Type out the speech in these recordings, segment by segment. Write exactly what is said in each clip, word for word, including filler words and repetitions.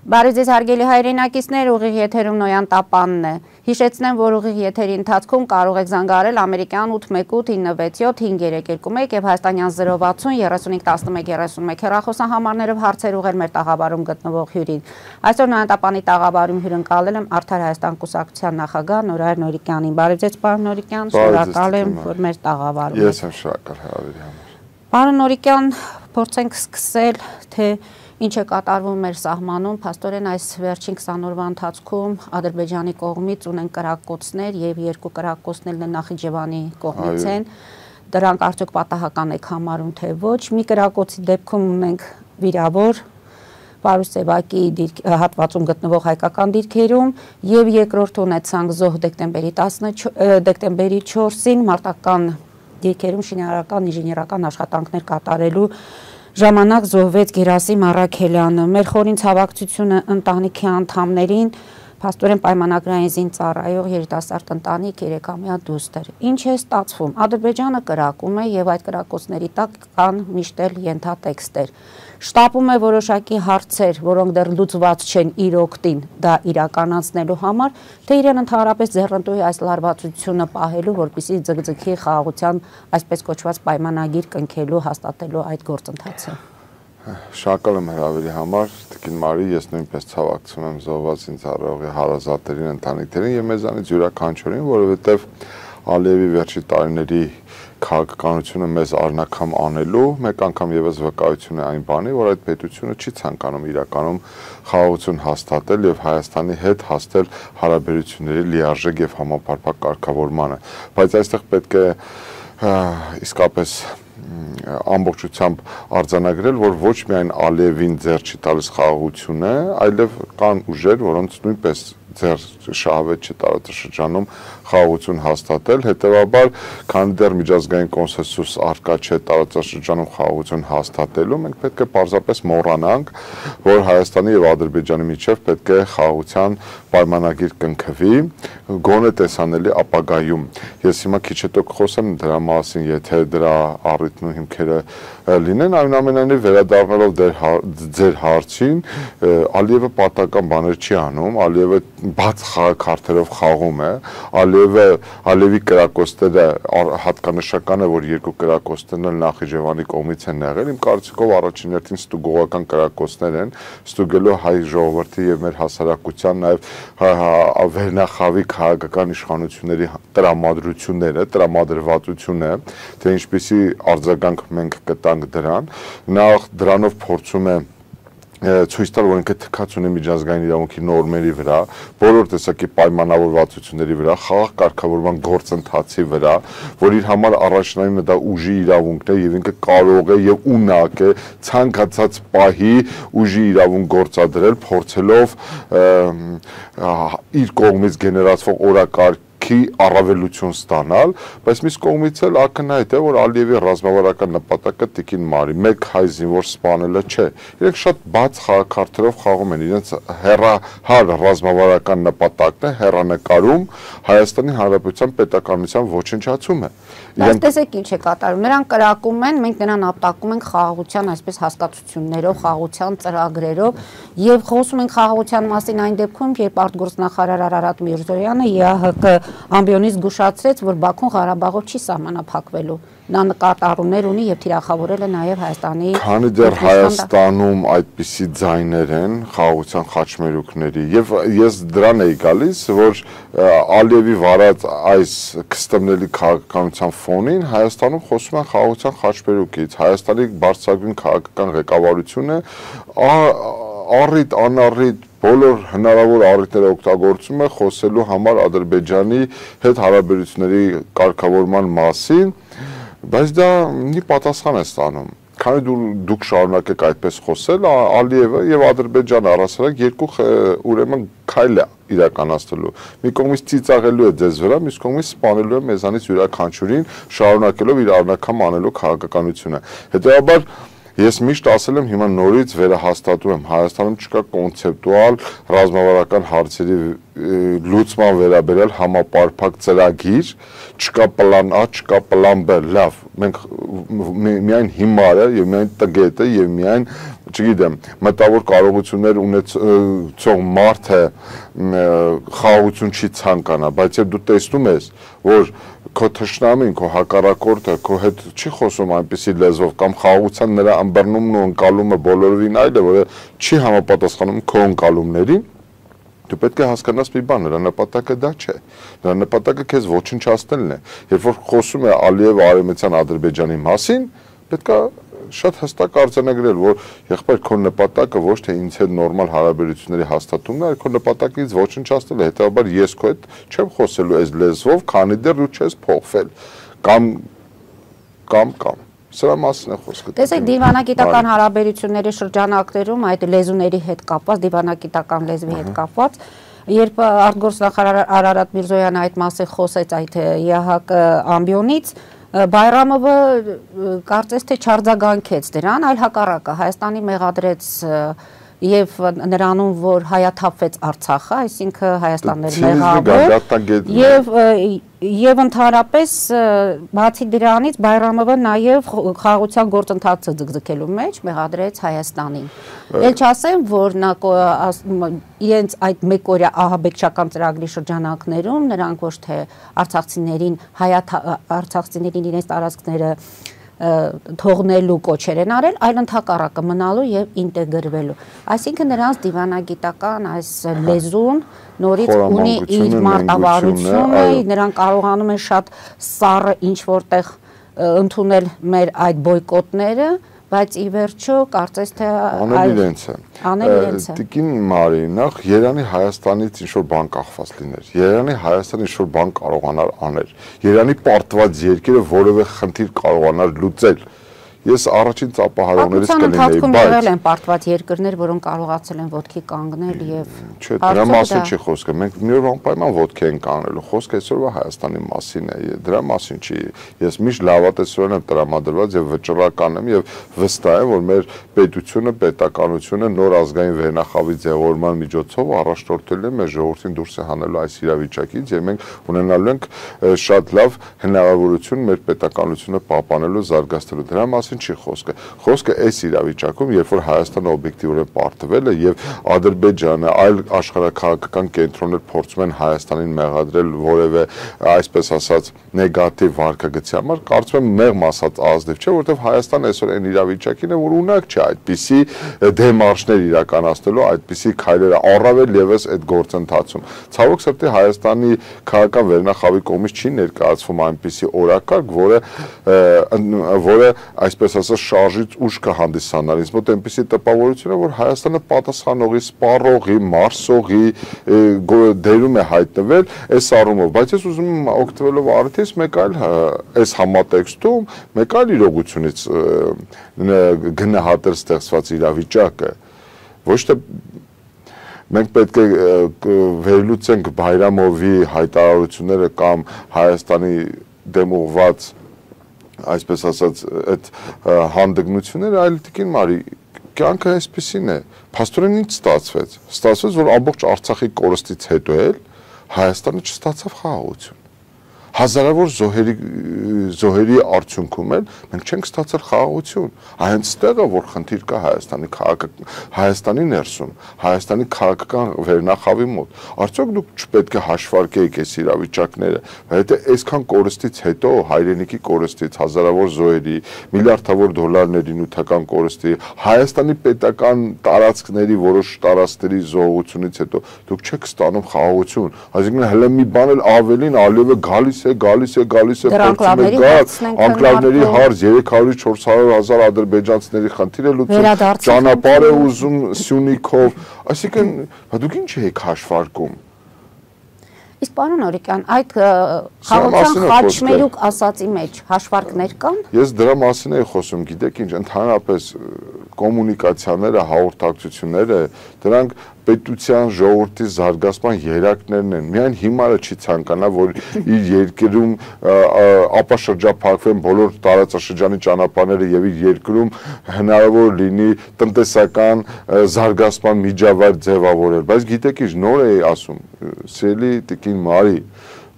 Բարև ձեզ հարգելի հայրենակիցներ, ուղիղ եթերում Նոյան Տապանն է։ Հիշեցնեմ, որ ուղիղ եթերի ընթացքում կարող եք զանգահարել ամերիկյան ութ մեկ ութ ինը վեց յոթ հինգ երեք երկու մեկ եւ հայաստանյան զրո վաթսուն երեսունհինգ տասնմեկ երեսունմեկ հեռախոսահամարներով հարցեր ուղղել մեր տաղավարում գտնվող հյուրին։ Այսօր Նոյան Տապանի տաղավարում հյուրընկալել եմ Արդար Հայաստան կուսակցության նախագահ Նորայր Նորիկյանին։ Բարև ձեզ, պարոն Նորիկյան, շնորհակալ եմ, որ մեր տաղավարում եք։ Ես եմ շնորհակալ հրավերի համար։ Պարոն Նորիկյան, փորձենք սկսել, թե ինչ է կատարվում մեր սահմանում, փաստորեն այս վերջին քսան օրվա ընթացքում Ադրբեջանի կողմից ունեն կրակոցներ եւ երկու կրակոցներն Նախիջևանի կողմից են։ Դրանք արդյոք պատահական եք համարում, թե ոչ։ Մի կրակոցի դեպքում ունենք վիրավոր Պարուս Սևակի հատվածում գտնվող հայկական դիրքերում եւ երկրորդ ունեցանք զոհ դեկտեմբերի տասնչորսին դեկտեմբերի չորսին մարտական դիրքերում շինարարական ինժեներական աշխատանքներ կատարելու ժամանակ զոհվեց Գերասիմ Առաքելյանը։ Մեր խորին ցավակցությունը ընտանիքի անդամներին, փաստորեն պայմանագրային զին ծառայող երիտասարդ ընտանիք երեքամյա դուստր։ Ինչ է ստացվում։ Ադրբեջանը կրակում է եւ այդ կրակոցների տակ կան միշտ էլ ենթատեքստեր։ Շտապում է որոշակի հարցեր, որոնք դեռ լուծված չեն իր օգտին դա իրականացնելու համար, թե իրեն ընդհանրապես ձեռնտու է այս լարվածությունը պահելու, որպեսզի ձգձգի խաղաղության այսպես կոչված պայմանագիր կնքելու, հաստատելու այդ գործընթացը։ Շնորհակալ եմ հրավերի համար, Տիկին Մարի, ես նույնպես ցավակցում եմ զոհված ինձ առողի հարազատերին, ընտանիքներին եւ մեզանից յուրաքանչյուրին, որովհետեւ Ալիևի վերջի տարիների քաղաքականությունը մեզ արնակամ անելու, մեկ անգամ եւս վկայություն է այն բանի, որ այդ պետությունը չի ցանկանում իրականում խաղաղություն հաստատել եւ Հայաստանի հետ հասնել հարաբերությունների լիարժեք եւ համապարփակ կարգավորմանը, բայց այստեղ պետք է իսկապես ամբողջությամբ արձանագրել, որ ոչ միայն Ալիևին ձեռ չի տալիս խաղաղությունը, այլև կան ուժեր, որոնց նույնպես ձեր շահավետ չի տարածաշրջանում խաղաղություն հաստատել, հետևաբար, քանի դեռ միջազգային կոնսենսուս առկա չէ տարածաշրջանում խաղաղություն հաստատելու, մենք պետք է պարզապես մոռանանք, որ Հայաստանի եւ Ադրբեջանի միջեւ պետք է խաղաղության պայմանագիր կնքվի, գոնե տեսանելի ապագայում։ Ես հիմա քիչ հետո կխոսեմ դրա մասին, եթե դրա առիթն ու հիմքերը լինեն, այնուամենայնիվ վերադառնալով ձեր հարցին, Ալիևը պատահական բաներ չի անում, Ալիևը բաց խաղաքարտերով խաղում է, Ալիևը Ալիևի կրակոցները հատկանշական է, որ երկու կրակոցներն էլ Նախիջևանի կողմից են եղել, իմ կարծիքով առաջին հերթին ստուգողական կրակոցներ են, ստուգելով հայ ժողովրդի եւ մեր հասարակության նաեւ վերնախավի քաղաքական իշխանությունների տրամադրությունները, տրամադրվածությունը, թե ինչպիսի արձագանք մենք կտանք դրան, նախ դրանով փորձում է ցույց տալ, որ ինքը թքած ունի միջազգային իրավունքի նորմերի վրա, բոլոր տեսակի պայմանավորվածությունների վրա, խաղաղ կարգավորման գործընթացի վրա, որ իր համար առաջնայինը դա ուժի իրավունքն է եւ ինքը կարող է եւ ունակ է ցանկացած պահի ուժի իրավունք գործադրել, փորձելով իր կողմից գեներացվող օրակարգ առավելություն ստանալ, բայց մյուս կողմից էլ ակնհայտ է, որ Ալիևի ռազմավարական նպատակը Տիկին Մարի մեկ հայ զինվոր սպանելը չէ։ Իրենք շատ բաց խաղաքարտերով խաղում են, իրենց հեռահար ռազմավարական նպատակն է հեռանկարում Հայաստանի Հանրապետության պետականության ոչնչացումը։ Բայց տեսեք ինչ է կատարում, նրանք կրակում են, մենք նրան ապտակում ենք խաղաղության այսպես հասկացություններով, խաղաղության ծրագրերով եւ խոսում ենք խաղաղության մասին այն դեպքում, երբ արտգործնախարար Արարատ Միրզոյանը ԵԱՀԿ ամբիոնից զգուշացրեց, որ Բաքուն Ղարաբաղով չի սահմանափակվելու։ Նա նկատառումներ ունի եւ թիրախավորել է նաեւ Հայաստանի։ Քանի դեռ Հայաստանում այդպիսի ձայներ են խաղաղության խաչմերուկների եւ ես դրան էի գալիս, որ Ալիևի վարած այս կստմնելի քաղաքականության ֆոնին Հայաստանում խոսում են խաղաղության խաչմերուկից, Հայաստանի բարձրագույն քաղաքական ղեկավարությունը առիթ անառիթ բոլոր հնարավոր առիթները օգտագործում է խոսելու համար Ադրբեջանի հետ հարաբերությունների կարգավորման մասին, բայց դա մի պատասխան է ստանում։ Քանի դուք շարունակեք այդպես խոսել, Ալիևը եւ Ադրբեջանը առասարակ երկու ուրեմն քայլ է իրականացնելու։ Մի կողմից ծիծաղելու է ձեզ վրա, մյուս կողմից սպանելու է մեզանից յուրաքանչյուրին, շարունակելով իր առնական անելու քաղաքականությունը։ Հետեւաբար Ես միշտ ասել եմ, հիմա նորից վերահաստատում եմ, Հայաստանում չկա կոնցեպտուալ ռազմավարական հարցերի լուծման վերաբերյալ համապարփակ ծրագիր, չկա պլան A, չկա պլան B, լավ, մենք միայն հիմարը եւ միայն տգետը եւ միայն չգիտեմ, մտավոր կարողություններ ունեցող մարդը խաղաղություն չի ցանկանա, բայց երբ դու տեսնում ես, որ քո թշնամին, քո հակառակորդը քո հետ չի խոսում այնպիսի լեզվով կամ խաղաղության նրա ըմբռնումն ու ընկալումը բոլորովին այլ է, որը չի համապատասխանում քո ընկալումներին, դու պետք է հասկանաս մի բան, նրա նպատակը դա չէ։ Նրա նպատակը քեզ ոչնչացնելն է։ Երբ որ խոսում է Ալիևը Արևմտյան Ադրբեջանի մասին, պետք է շատ հստակ արձանագրել, որ եղբայր քո նպատակը ոչ թե ինձ հետ նորմալ հարաբերությունների հաստատումն է, այլ քո նպատակը ինձ ոչնչացնել է, հետեւաբար ես քո հետ չեմ խոսելու այս լեզվով, քանի դեռ դու չես փոխվել կամ կամ կամ սրա մասին է խոսքը։ Տեսեք, դիվանագիտական հարաբերությունների շրջանակներում այդ լեզուների հետ կապված, դիվանագիտական լեզվի հետ կապված, երբ արտգործնախարար Արարատ Միրզոյանը այդ մասին խոսեց այդ ԵԱՀԿ ամբիոնից, Բայրամովը կարծես թե չարձագանքեց դրան, այլ հակառակը Հայաստանի մեղադրեց եւ նրանում, որ հայաթափվեց Արցախը, այսինքն Հայաստանն էր մեղավոր, եւ եւ ընդհանրապես բացի դրանից Բայրամովը նաեւ խաղաղության գործընթացը ձգձգելու մեջ մեղադրեց Հայաստանին։ Էլ չասեմ, որ նա իրենց այդ մեկօրյա ահաբեկչական ծրագրի շրջանակներում նրանք ոչ թե արցախցիներին արցախցիներին իրենց տարածքները թողնելու կոչեր են արել, այլ ընդհակառակը մնալու եւ ինտեգրվելու։ Այսինքն նրանց դիվանագիտական այս լեզուն նորից ունի իր մարտավարությունը, նրանք կարողանում են շատ սառը ինչ որտեղ ընդունել մեր այդ բոյկոտները, բայց ի վերջո կարծես թե անել իրենց է։ Անել իրենց է։ Տիկին Մարի, նախ Երանի Հայաստանից ինչ որ բան կախված լիներ։ Երանի Հայաստանը ինչ որ բան կարողանար անել։ Երանի պարտված երկիրը որևէ խնդիր կարողանար լուծել։ Ես առաջին ծափահարողներից կլինեի, բայց եղել են պարտված երկրներ, որոնք կարողացել են ոտքի կանգնել եւ Չէ, դրա մասին չի խոսքը։ Մենք մի օր անպայման ոտքի ենք կանգնելու։ Խոսքը այսօրվա Հայաստանի մասին է, դրա մասին չի։ Ես միշտ լավատեսորեն եմ տրամադրված եւ վճռական եմ եւ վստահ եմ, որ մեր պետությունը, պետականությունը նոր ազգային վերնախավի ձևավորման միջոցով առաջնորդել է մեր ժողովրդին դուրս հանելու այս իրավիճակից եւ մենք ունենալու ենք շատ լավ հնարավորություն մեր պետականությունը պահպանելու, զարգացնելու։ Դրա մասին չի խոսքը։ Խոսքը այս իրավիճակում, երբ որ Հայաստանը օբյեկտիվորեն պարտվել է եւ Ադրբեջանը, այլ աշխարհաքաղաքական կենտրոններ փորձում են Հայաստանին մեղադրել որևէ, այսպես ասած, նեգատիվ վարկագծի համար, կարծում եմ մեղմ ասած ազնիվ չէ, որովհետեւ Հայաստանը այսօր այն իրավիճակին է, որ ունակ չէ այդպիսի դեմարշներ իրականացնելու, այդպիսի քայլերը առավել եւս այդ գործընթացում։ Ցավոք սրտի Հայաստանի քաղաքական վերնախավի կողմից չի ներկայացվում այնպիսի օրակարգ, որը որը այսպես ասած շարժից ուժ կհանդիսանար։ Ինձ մոտ այնպիսի տպավորություն է, որ Հայաստանը պատասխանողի, սպառողի, մարսողի դերում է հայտնվել այս առումով, բայց ես ուզում եմ օգտվելով առիթից մեկ այլ այս համատեքստում մեկ այլ իրողությունից գնահատել ստեղծված իրավիճակը։ Ոչ թե մենք պետք է վերլուծենք Բայրամովի հայտարարությունները կամ Հայաստանի դեմ ուղղված այսպես ասած այդ հանդգնությունները, այլ Տիկին Մարի կյանքը այսպեսին է։ Փաստորեն ինչ ստացվեց։ Ստացվեց, որ ամբողջ Արցախի կորստից հետո էլ Հայաստանը չստացավ խաղաղություն։ Հազարավոր զոհերի զոհերի արդյունքում էլ մենք չենք ստացել խաղաղություն։ Այնց տեղը, որ խնդիր կա Հայաստանի քաղաք Հայաստանի ներսում, Հայաստանի քաղաքական վերնախավի մոտ։ Արդյոք դուք չպետք է հաշվարկեիք այս իրավիճակները, բայց այսքան կորստից հետո հայրենիքի կորստից, հազարավոր զոհերի, միլիարդավոր դոլարների նյութական կորստի, Հայաստանի պետական տարածքների որոշ տարածքների զոհությունից հետո դուք չեք ստանում խաղաղություն։ Այսինքն հələ մի բան էլ ավելին Ալիևը գալիս է, գալիս է, գալիս է, փորձում է գալ, անկլավների հարց երեք հարյուր չորս հարյուր հազար ադրբեջանցիների խնդիր է լուծում, ճանապարհ է ուզում Սյունիքով, այսինքն դուք ինչ եք հաշվարկում։ Իսկ պարոն Օրիկյան, այդ խաղաղության խաչմերուկ ասացի մեջ հաշվարկներ կան։ Ես դրա մասին էի խոսում, գիտեք ինչ, ընդհանրապես կոմունիկացիաները, հաղորդակցությունները, դրանք պետության ժողովրդի զարգացման երակներն են։ Միայն հիմարը չի ցանկանա, որ իր երկրում ապաշրջափակվեն բոլոր տարածաշրջանի ճանապարհները եւ իր երկրում հնարավոր լինի տնտեսական զարգացման միջավայր ձևավորել։ Բայց գիտեք ինչ, նոր էի ասում, սիրելի Տիկին Մարի,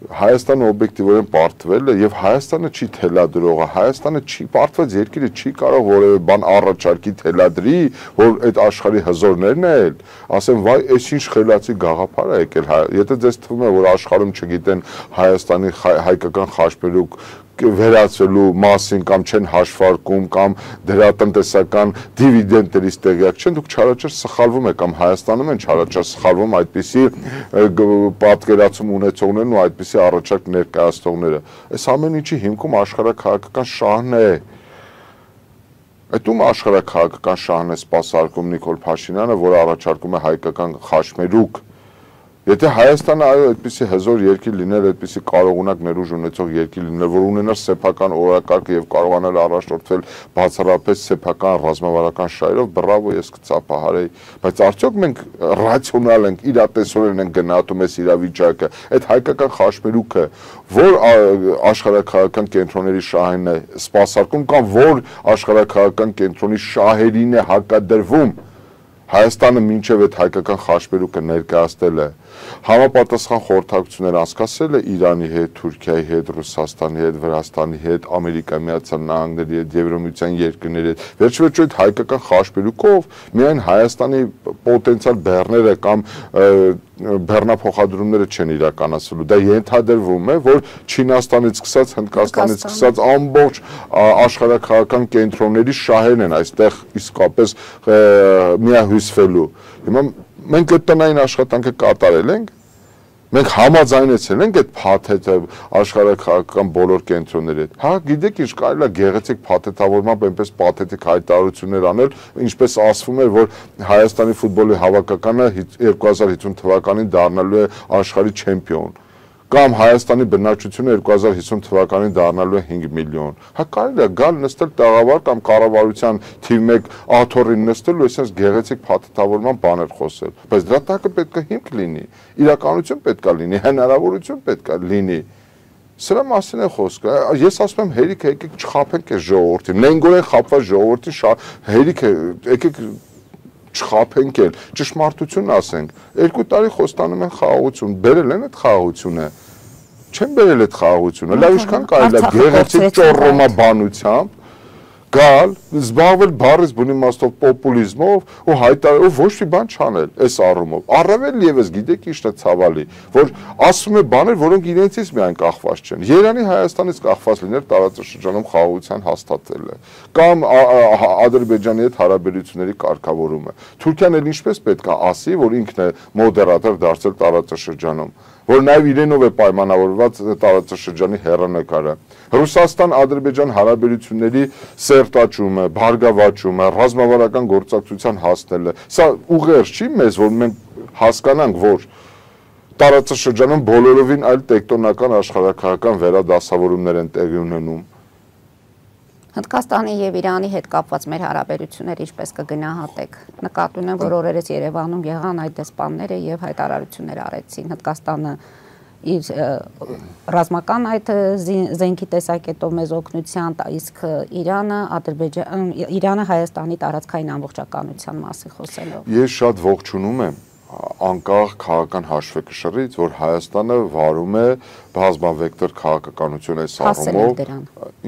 Հայաստանը օբյեկտիվորեն պարտվել է եւ Հայաստանը չի թելադրողը, Հայաստանը չի պարտված երկիրը չի կարող որևէ բան առաջարկի թելադրի, որ այդ աշխարհի հզորներն էլ ասեն վայ, այս ինչ խելացի գաղափար է եկել, եթե ձեզ թվում է որ աշխարհում չգիտեն Հայաստանի հայկական խաչմերուկ վերացվելու մասին կամ չեն հաշվարկում կամ դրա տնտեսական դիվիդենդներից տեղյակ չեն, դուք չարաչար սխալվում եք կամ Հայաստանում են չարաչար սխալվում այդպիսի պատկերացում ունեցողներն ու այդպիսի առաջարկ ներկայացնողները։ Այս ամեն ինչի հիմքում աշխարհաքաղաքական շահն է։ Այդում աշխարհաքաղաքական շահն է սպասարկում Նիկոլ Փաշինյանը, որը առաջարկում է հայկական խաչմերուկ։ Եթե Հայաստանը այո այդպիսի հզոր երկիր լիներ, այդպիսի կարողունակ ներուժ ունեցող երկիր լիներ, որ ունենար սեփական օրակարգ եւ կարողանար առաջնորդվել բացառապես սեփական ռազմավարական շահերով, բրավո, ես կծափահարեի, բայց արդյոք մենք ռացիոնալ ենք, իրատեսորեն ենք գնահատում այս իրավիճակը, այդ հայկական խաչմերուկը, որ աշխարհաքաղաքական կենտրոնների շահերն է սպասարկում կամ որ աշխարհաքաղաքական կենտրոնի շահերին է հակադրվում, Հայաստանը մինչև այդ հայկական խաչմերուկը ներկայացնել է, համապատասխան խորհրդակցություններ անցկացրել է Իրանի հետ, Թուրքիայի հետ, Ռուսաստանի հետ, Վրաստանի հետ, Ամերիկայի Միացյալ Նահանգների հետ, Եվրամիության երկրների հետ։ Վերջիվերջո այդ հայկական խաչմերուկով միայն Հայաստանի պոտենցիալ բեռները կամ բեռնափոխադրումները չեն իրականացվելու։ Դա ենթադրվում է, որ Չինաստանից սկսած, Հնդկաստանից սկսած ամբողջ աշխարհաքաղաքական կենտրոնների շահերն են այստեղ իսկապես միահյուսվելու։ Հիմա մենք այդ տնային աշխատանքը կատարել ենք, մենք համաձայնեցել ենք այդ փաթեթը աշխարհաքաղաքական բոլոր կենտրոնների հետ։ Հա, գիտեք ինչ, կարելի է գեղեցիկ փաթեթավորմամբ այնպես պաթետիկ հայտարարություններ անել, ինչպես ասվում էր, որ Հայաստանի ֆուտբոլի հավաքականը երկու հազար հիսուն թվականին դառնալու է աշխարհի չեմպիոն։ Կամ Հայաստանի բնակչությունը երկու հազար հիսուն թվականին դառնալու է հինգ միլիոն։ Հա կարելի է գալ նստել տաղավար կամ կառավարության թիվ մեկ աթոռին նստել ու այսպես գեղեցիկ փաթեթավորման բաներ խոսել։ Բայց դրա տակը պետք է հիմք լինի, իրականություն պետք է լինի, հնարավորություն պետք է լինի։ Սրա մասին է խոսքը։ Ես ասում եմ հերիք է, եկեք չխաբենք այս ժողովրդին։ Նենգորեն խաբված ժողովրդին հերիք է, եկեք չխաբենք էլ, ճշմարտություն ասենք։ Երկու տարի խոստանում են խաղաղություն, բերել են այդ խաղաղությունը։ Չեն բերել այդ խաղաղությունը։ Լավ ինչքան կարելի է գեղեցիկ ճոռոմաբանությամբ գալ, զբաղվել բառից բուն իմաստով պոպուլիզմով ու հայտարարել ոչ մի բան չանել այս առումով։ Առավել եւս գիտեք ինչն է ցավալի, որ ասում է բաներ, որոնք իրենցից միայն կախված չեն։ Երանի Հայաստանից կախված լիներ տարածաշրջանում խաղաղության հաստատելը կամ Ադրբեջանի հետ հարաբերությունների կարգավորումը։ Թուրքիան էլ ինչպես պետք է ասի, որ ինքն է մոդերատոր դարձել տարածաշրջանում, որ նաև իրենով է պայմանավորված տարածաշրջանի հեռանկարը։ Ռուսաստան-Ադրբեջան հարաբերությունների սերտաճումը, բարգավաճումը, ռազմավարական գործակցության հասնելը, սա ուղերձ չի մեզ, որ մենք հասկանանք, որ տարածաշրջանում բոլորովին այլ տեկտոնական աշխարհաքաղաքական վերադասավորումներ են տեղի ունենում։ Հնդկաստանի եւ Իրանի հետ կապված մեր հարաբերությունները ինչպես կգնահատեք։ Նկատի ունեմ, որ օրերս Երևանում եղան այդ դեսպանները եւ հայտարարություններ արեցին։ Հնդկաստանը իր ռազմական այդ զենքի տեսակետով մեզ օգնության, իսկ Իրանը Ադրբեջան Իրանը Հայաստանի տարածքային ամբողջականության մասին խոսելով։ Ես շատ ողջունում եմ անկախ քաղաքական հաշվեկշռից, որ Հայաստանը վարում է բազմավեկտոր քաղաքականություն այս առումով։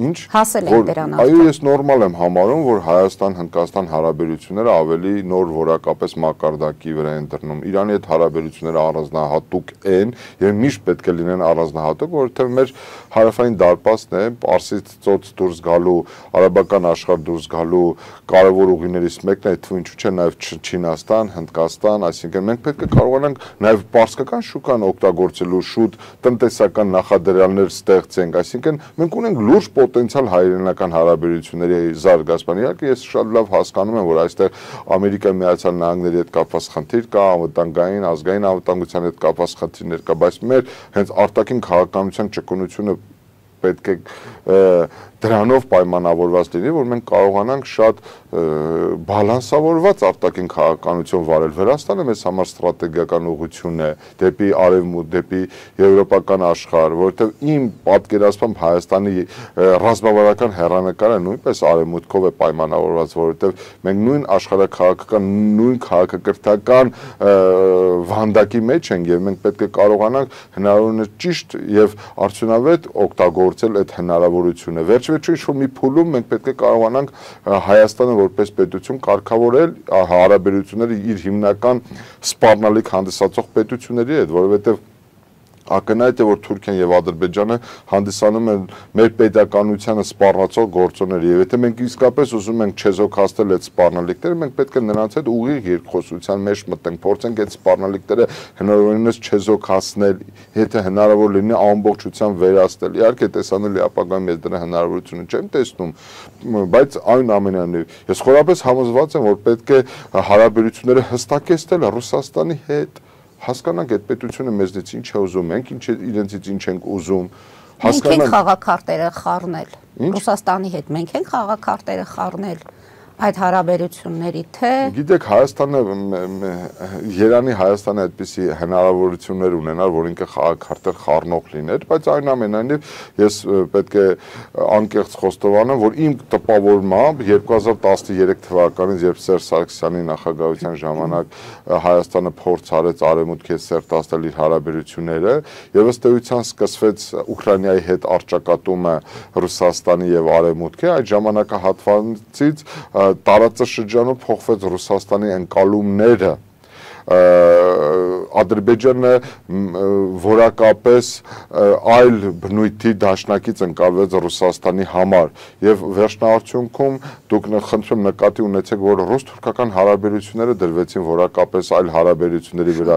Ինչ հասել են դրան։ Այո, ես նորմալ եմ համարում, որ Հայաստան-Հնդկաստան հարաբերությունները ավելի նոր որակապես մակարդակի վրա են դրնում։ Իրանի հետ հարաբերությունները առանձնահատուկ են եւ միշտ պետք է լինեն առանձնահատուկ, որովհետեւ մեր հարավային դարպասն է Պարսից ծոց դուրս գալու, արաբական աշխարհ դուրս գալու կարևոր ուղիներից մեկն է, թվում ինչու՞ չէ նաեւ Չինաստան, Հնդկաստան, այսինքն մենք պետք է կարողանանք նաեւ պարսկական շուկան օգտագործելու շուտ տնտեսական նախադրյալներ ստեղծենք, այսինքն մենք ունենք լուրջ պոտենցիալ հայրենական հարաբերությունների զարգացման։ Իհարկե ես շատ լավ հասկանում եմ, որ այստեղ Ամերիկայի Միացյալ Նահանգների հետ կապված խնդիր կա, անվտանգային, ազգային անվտանգության հետ կապված խնդիրներ կա, բայց մեր հենց արտաքին քաղաքականության ճկունությունը պետք է դրանով պայմանավորված լինի, որ մենք կարողանանք շատ բալանսավորված արտաքին քաղաքականություն վարել։ Վրաստանը մեզ համար ստրատեգիական ուղղություն է դեպի արևմուտք, դեպի եվրոպական աշխարհ, որովհետև իմ պատկերացմամբ Հայաստանի ռազմավարական հեռանկարը նույնպես արևմուտքով է պայմանավորված, որովհետև մենք նույն աշխարհաքաղաքական, նույն քաղաքակրթական վանդակի մեջ ենք եւ մենք պետք է կարողանանք հնարավորինս ճիշտ եւ արդյունավետ օգտագործել այդ հնարավորությունը։ Վերջ-վերջո ինչ-որ մի փուլում մենք պետք է կարողանանք Հայաստանը որպես պետություն կարգավորել հարաբերությունները իր հիմնական սպառնալիք հանդիսացող պետությունների հետ, որովհետեւ ակնհայտ է, որ Թուրքիան եւ Ադրբեջանը հանդիսանում են մեր պետականությանը սպառնացող գործոններ, եւ եթե մենք իսկապես ուզում ենք չեզոքացնել այդ սպառնալիքները, մենք պետք է նրանց հետ ուղիղ երկխոսության մեջ մտնենք, փորձենք այդ սպառնալիքները հնարավորինս չեզոքացնել, եթե հնարավոր լինի ամբողջությամբ վերացնել։ Իհարկե տեսանելի ապագայում ես դրա հնարավորությունը չեմ տեսնում, բայց այն ամենայնիվ ես խորապես համոզված եմ, որ պետք է հարաբերությունները հստակեցնել Ռուսաստանի հետ, հասկանանք այդ պետությունը մեզնից ինչ է ուզում, մենք ինչ իրենցից ինչ ենք ուզում, հասկանանք։ Մենք ենք խաղաքարտերը խառնել Ռուսաստանի հետ, մենք ենք խաղաքարտերը խառնել այդ հարաբերությունների, թե գիտեք, Հայաստանը Երանի Հայաստանը այդպիսի հնարավորություններ ունենար, որ ինքը խաղաքարտեր խառնող լիներ, բայց այնուամենայնիվ ես պետք է անկեղծ խոստովանեմ, որ իմ տպավորմամբ երկու հազար տասներեք թվականից, երբ Սերժ Սարգսյանի նախագահության ժամանակ Հայաստանը փորձ արեց արևմուտքի հետ սերտացնել իր հարաբերությունները, եւ ըստ էության սկսվեց Ուկրաինայի հետ առճակատումը Ռուսաստանի եւ արևմուտքի, այդ ժամանակահատվածից տարածաշրջանում փոխվեց Ռուսաստանի ընկալումները, Ադրբեջանը որակապես այլ բնույթի դաշնակից ընկալվեց Ռուսաստանի համար եւ վերջնահարցունքում դուք խնդրում նկատի ունեցեք, որ ռուս-թուրքական հարաբերությունները դրվեցին որակապես այլ հարաբերությունների վրա։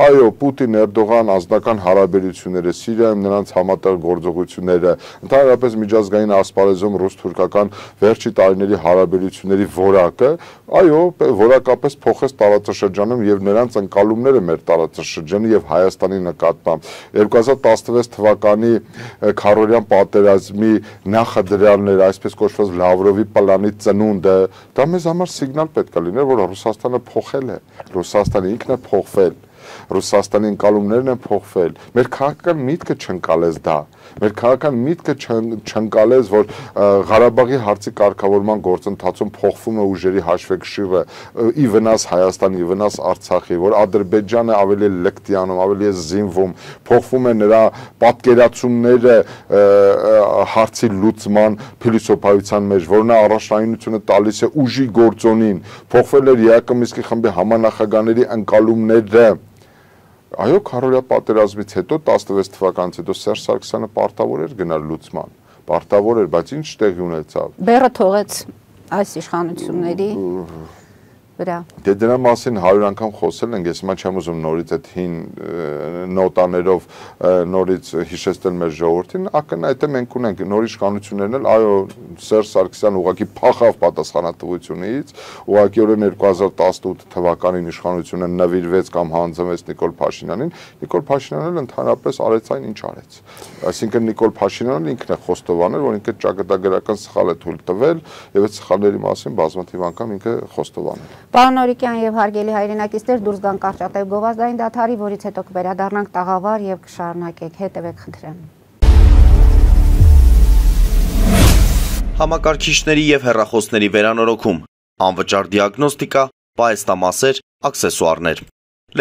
Այո, Պուտին-Էրդողան անձնական հարաբերությունները, Սիրիայում նրանց համատեղ գործողությունները, ընդհանրապես միջազգային ասպարեզում ռուս-թուրքական վերջի տարիների հարաբերությունների որակը, այո, որակապես փոխեց տարածաշրջանում եւ նրանց ընկալումները մեր տարածաշրջանի եւ Հայաստանի նկատմամբ երկու հազար տասնվեց թվականի քարորյան պատերազմի նախադրյալները, այսպես կոչված Լավրովի պլանի ծնունդը, դա մեզ համար սիգնալ պետք է լիներ, որ Ռուսաստանը փոխել է, Ռուսաստանը ինքն է փոխվել, Ռուսաստանի ընկալումներն են փոխվել, մեր քաղաքական միտքը չընկալեց դա, մեր քաղաքական միտքը չընկալեց, որ Ղարաբաղի հարցի կարգավորման գործընթացում փոխվում է ուժերի հաշվեկշիռը ի վնաս Հայաստանի, ի վնաս Արցախի, որ Ադրբեջանը ավելի լկտի անում, ավելի է զինվում, փոխվում է նրա պատկերացումները հարցի լուծման փիլիսոփայության մեջ, որ նա առաջնայինությունը տալիս է ուժի գործոնին, փոխվել էր Յակոմիսկի խմբի համանախագահների ընկալումները։ Այո, քարորյա պատերազմից հետո տասնվեց թվականից հետո Սերժ Սարգսյանը պարտավոր էր գնալ լուծման, պարտավոր էր, բայց ինչ տեղի ունեցավ։ Բեռը թողեց այս իշխանությունների վրա։ Դե դրա մասին հարյուր անգամ խոսել ենք, ես հիմա չեմ ուզում նորից այդ հին նոտաներով նորից հիշեցնել մեր ժողովրդին, ակնհայտ է մենք ունենք նոր իշխանություններն էլ, այո, Սերժ Սարգսյանը ուղղակի փախավ պատասխանատվությունից, ուղղակիորեն երկու հազար տասնութ թվականին իշխանությունը նվիրվեց կամ հանձնվեց Նիկոլ Փաշինյանին, Նիկոլ Փաշինյանն էլ ընդհանրապես արեց այն, ինչ արեց։ Այսինքն Նիկոլ Փաշինյանն ինքն է խոստովանել, որ ինքը ճակատագրական սխալ է թույլ տվել եւ այդ սխալների մասին բազմաթիվ անգամ ինքը խոստովանել։ Պարոն Նորիկյան եւ հարգելի հայրենակիցներ, դուրս գան կարճատև գովազդային դադարի, որից հետո կվերադառնանք տաղավար եւ կշարունակենք, հետեւեք խնդրեմ։ Համակարգիչների եւ հեռախոսների վերանորոգում, անվճար դիագնոստիկա, պահեստամասեր, աքսեսուարներ։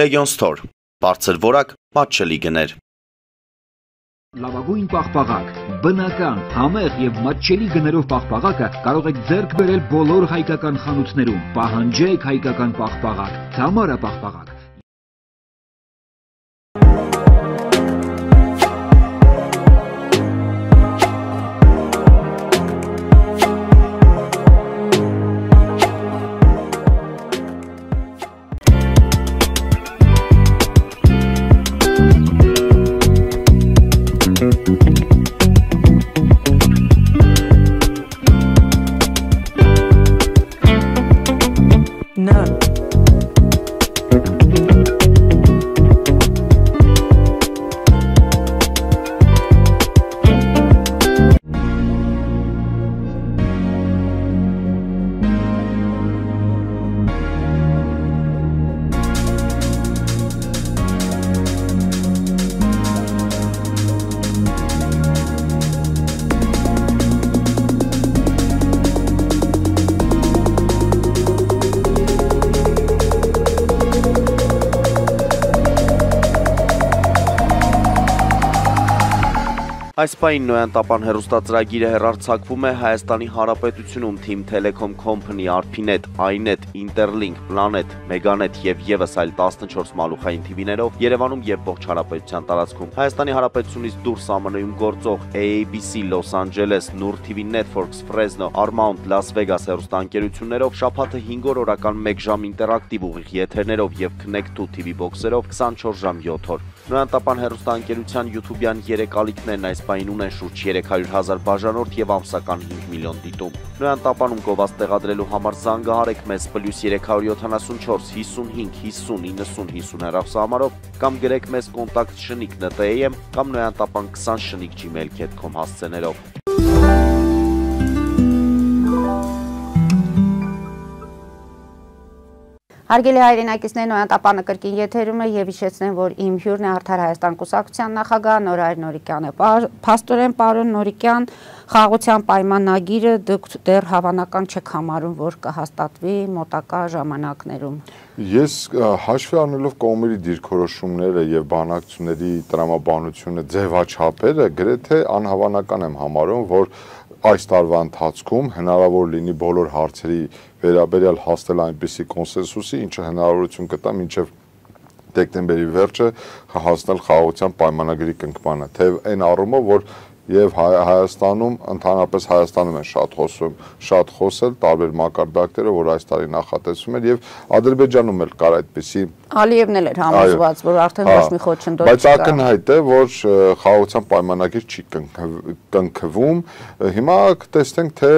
Legion Store, բարձր որակ, մատչելի գներ։ Լավագույն պաղպաղակ, բնական, համեղ եւ մատչելի գներով պաղպաղակը կարող եք ձեռք բերել բոլոր հայկական խանութներում։ Պահանջեք հայկական պաղպաղակ, Թամարա պաղպաղակ։ No. Այս պահին Նոյան Տապան հեռուստածրագիրը հեռարձակվում է Հայաստանի Հանրապետությունում Team Telecom Company, Arpinet, iNet, Interlink, Planet, Meganet եւ եւս այլ տասնչորս մալուխային թիվիներով Երևանում եւ ողջ հանրապետության տարածքում։ Հայաստանի Հանրապետությունից դուրս ԱՄՆ-ում գործող A A B C, Los Angeles, Nur T V Networks, Fresno, Paramount, Las Vegas հեռուստաընկերություններով շաբաթը հինգ օր օրական մեկ ժամ ինտերակտիվ ուղիղ եթերներով եւ Connect two T V box-երով քսանչորս ժամ յոթ օր։ Նոյան Տապան հեռուստաընկերության YouTube-յան երեք ալիքներն այս պահին ունեն շուրջ երեք հարյուր հազար բաժանորդ եւ ամսական հինգ միլիոն դիտում։ Նոյան Տապանում գովազդ տեղադրելու համար զանգահարեք մեզ պլյուս երեք յոթանասունչորս հիսունհինգ հիսուն իննսուն հիսուն հեռախոսահամարով կամ գրեք մեզ կոնտակտ շնիկ N T A M կամ Նոյան Տապան քսան շնիկ gmail dot com հասցեներով։ Հարգելի հայրենակիցներ, Նոյան Տապանը կրկին եթերում է եւ հիշեցնեմ, որ իմ հյուրն է Արդար Հայաստան կուսակցության նախագահ Նորայր Նորիկյանը։ Փաստորեն, պարոն Նորիկյան, խաղաղության պայմանագիրը դուք դեռ հավանական չեք համարում, որ կհաստատվի մոտակա ժամանակներում։ Ես հաշվի առնելով կողմերի դիրքորոշումները եւ բանակցությունների տրամաբանությունը ձևաչափերը գրեթե անհավանական եմ համարում, որ այս տարվա ընթացքում հնարավոր լինի բոլոր հարցերի վերաբերյալ հասնել այնպիսի կոնսենսուսի, ինչը հնարավորություն կտա մինչև դեկտեմբերի վերջը հասնել խաղաղության պայմանագրի կնքմանը, թե այն առումով, որ եւ Հայաստանում, ընդհանրապես Հայաստանում են շատ խոսում, շատ խոսել տարբեր մակարդակներով, որ այս տարի նախատեսվում էր եւ Ադրբեջանում էլ կար այդպիսի Ալիևն էլ էր համոզված, որ արդեն ոչ մի խոչընդոտ չկա։ Բայց ակնհայտ է, որ խաղաղության պայմանագիր չի կնքվում։ Հիմա կտեսնենք, թե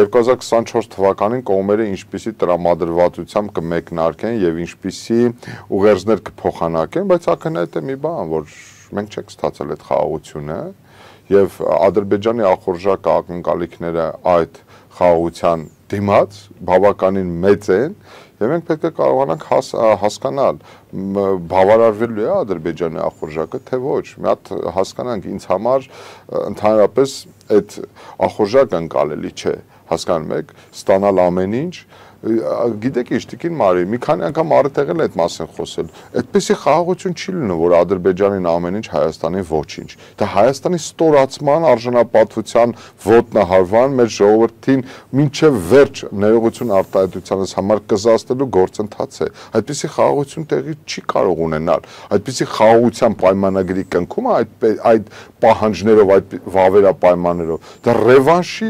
երկու հազար քսանչորս թվականին կողմերը ինչպիսի տրամադրվածությամբ կմեկնարկեն եւ ինչպիսի ուղերձներ կփոխանակեն, բայց ակնհայտ է մի բան, որ մենք չենք ստացել այդ խաղաղությունը եւ Ադրբեջանի ախորժակ ակնկալիքները այդ խաղաղության դիմաց բավականին մեծ են եւ մենք պետք է կարողանանք հաս, հասկանալ բավարարվելու է Ադրբեջանի ախորժակը թե ոչ։ Մի հատ հասկանանք, ինձ համար ընդհանրապես այդ ախորժակը ընկալելի չէ, հասկանում եք, ստանալ ամեն ինչ գիտեք ինչ տիկին Մարի, մի քանի անգամ առիթ եղել է այդ մասին խոսել։ Այդպեսի խաղաղություն չի լինում, որ Ադրբեջանին ամեն ինչ, Հայաստանին ոչինչ։ Դա Հայաստանի ստորացման, արժանապատվության ոտնահարման, մեր ժողովրդին մինչև վերջ ներողություն արտահայտությանս համար կզացնելու գործընթաց է։ Այդպեսի խաղաղություն տեղի չի կարող ունենալ։ Այդպեսի խաղաղության պայմանագրի կնքումը այդ այդ պահանջներով, այդ վավերապայմաններով, դա ռևանշի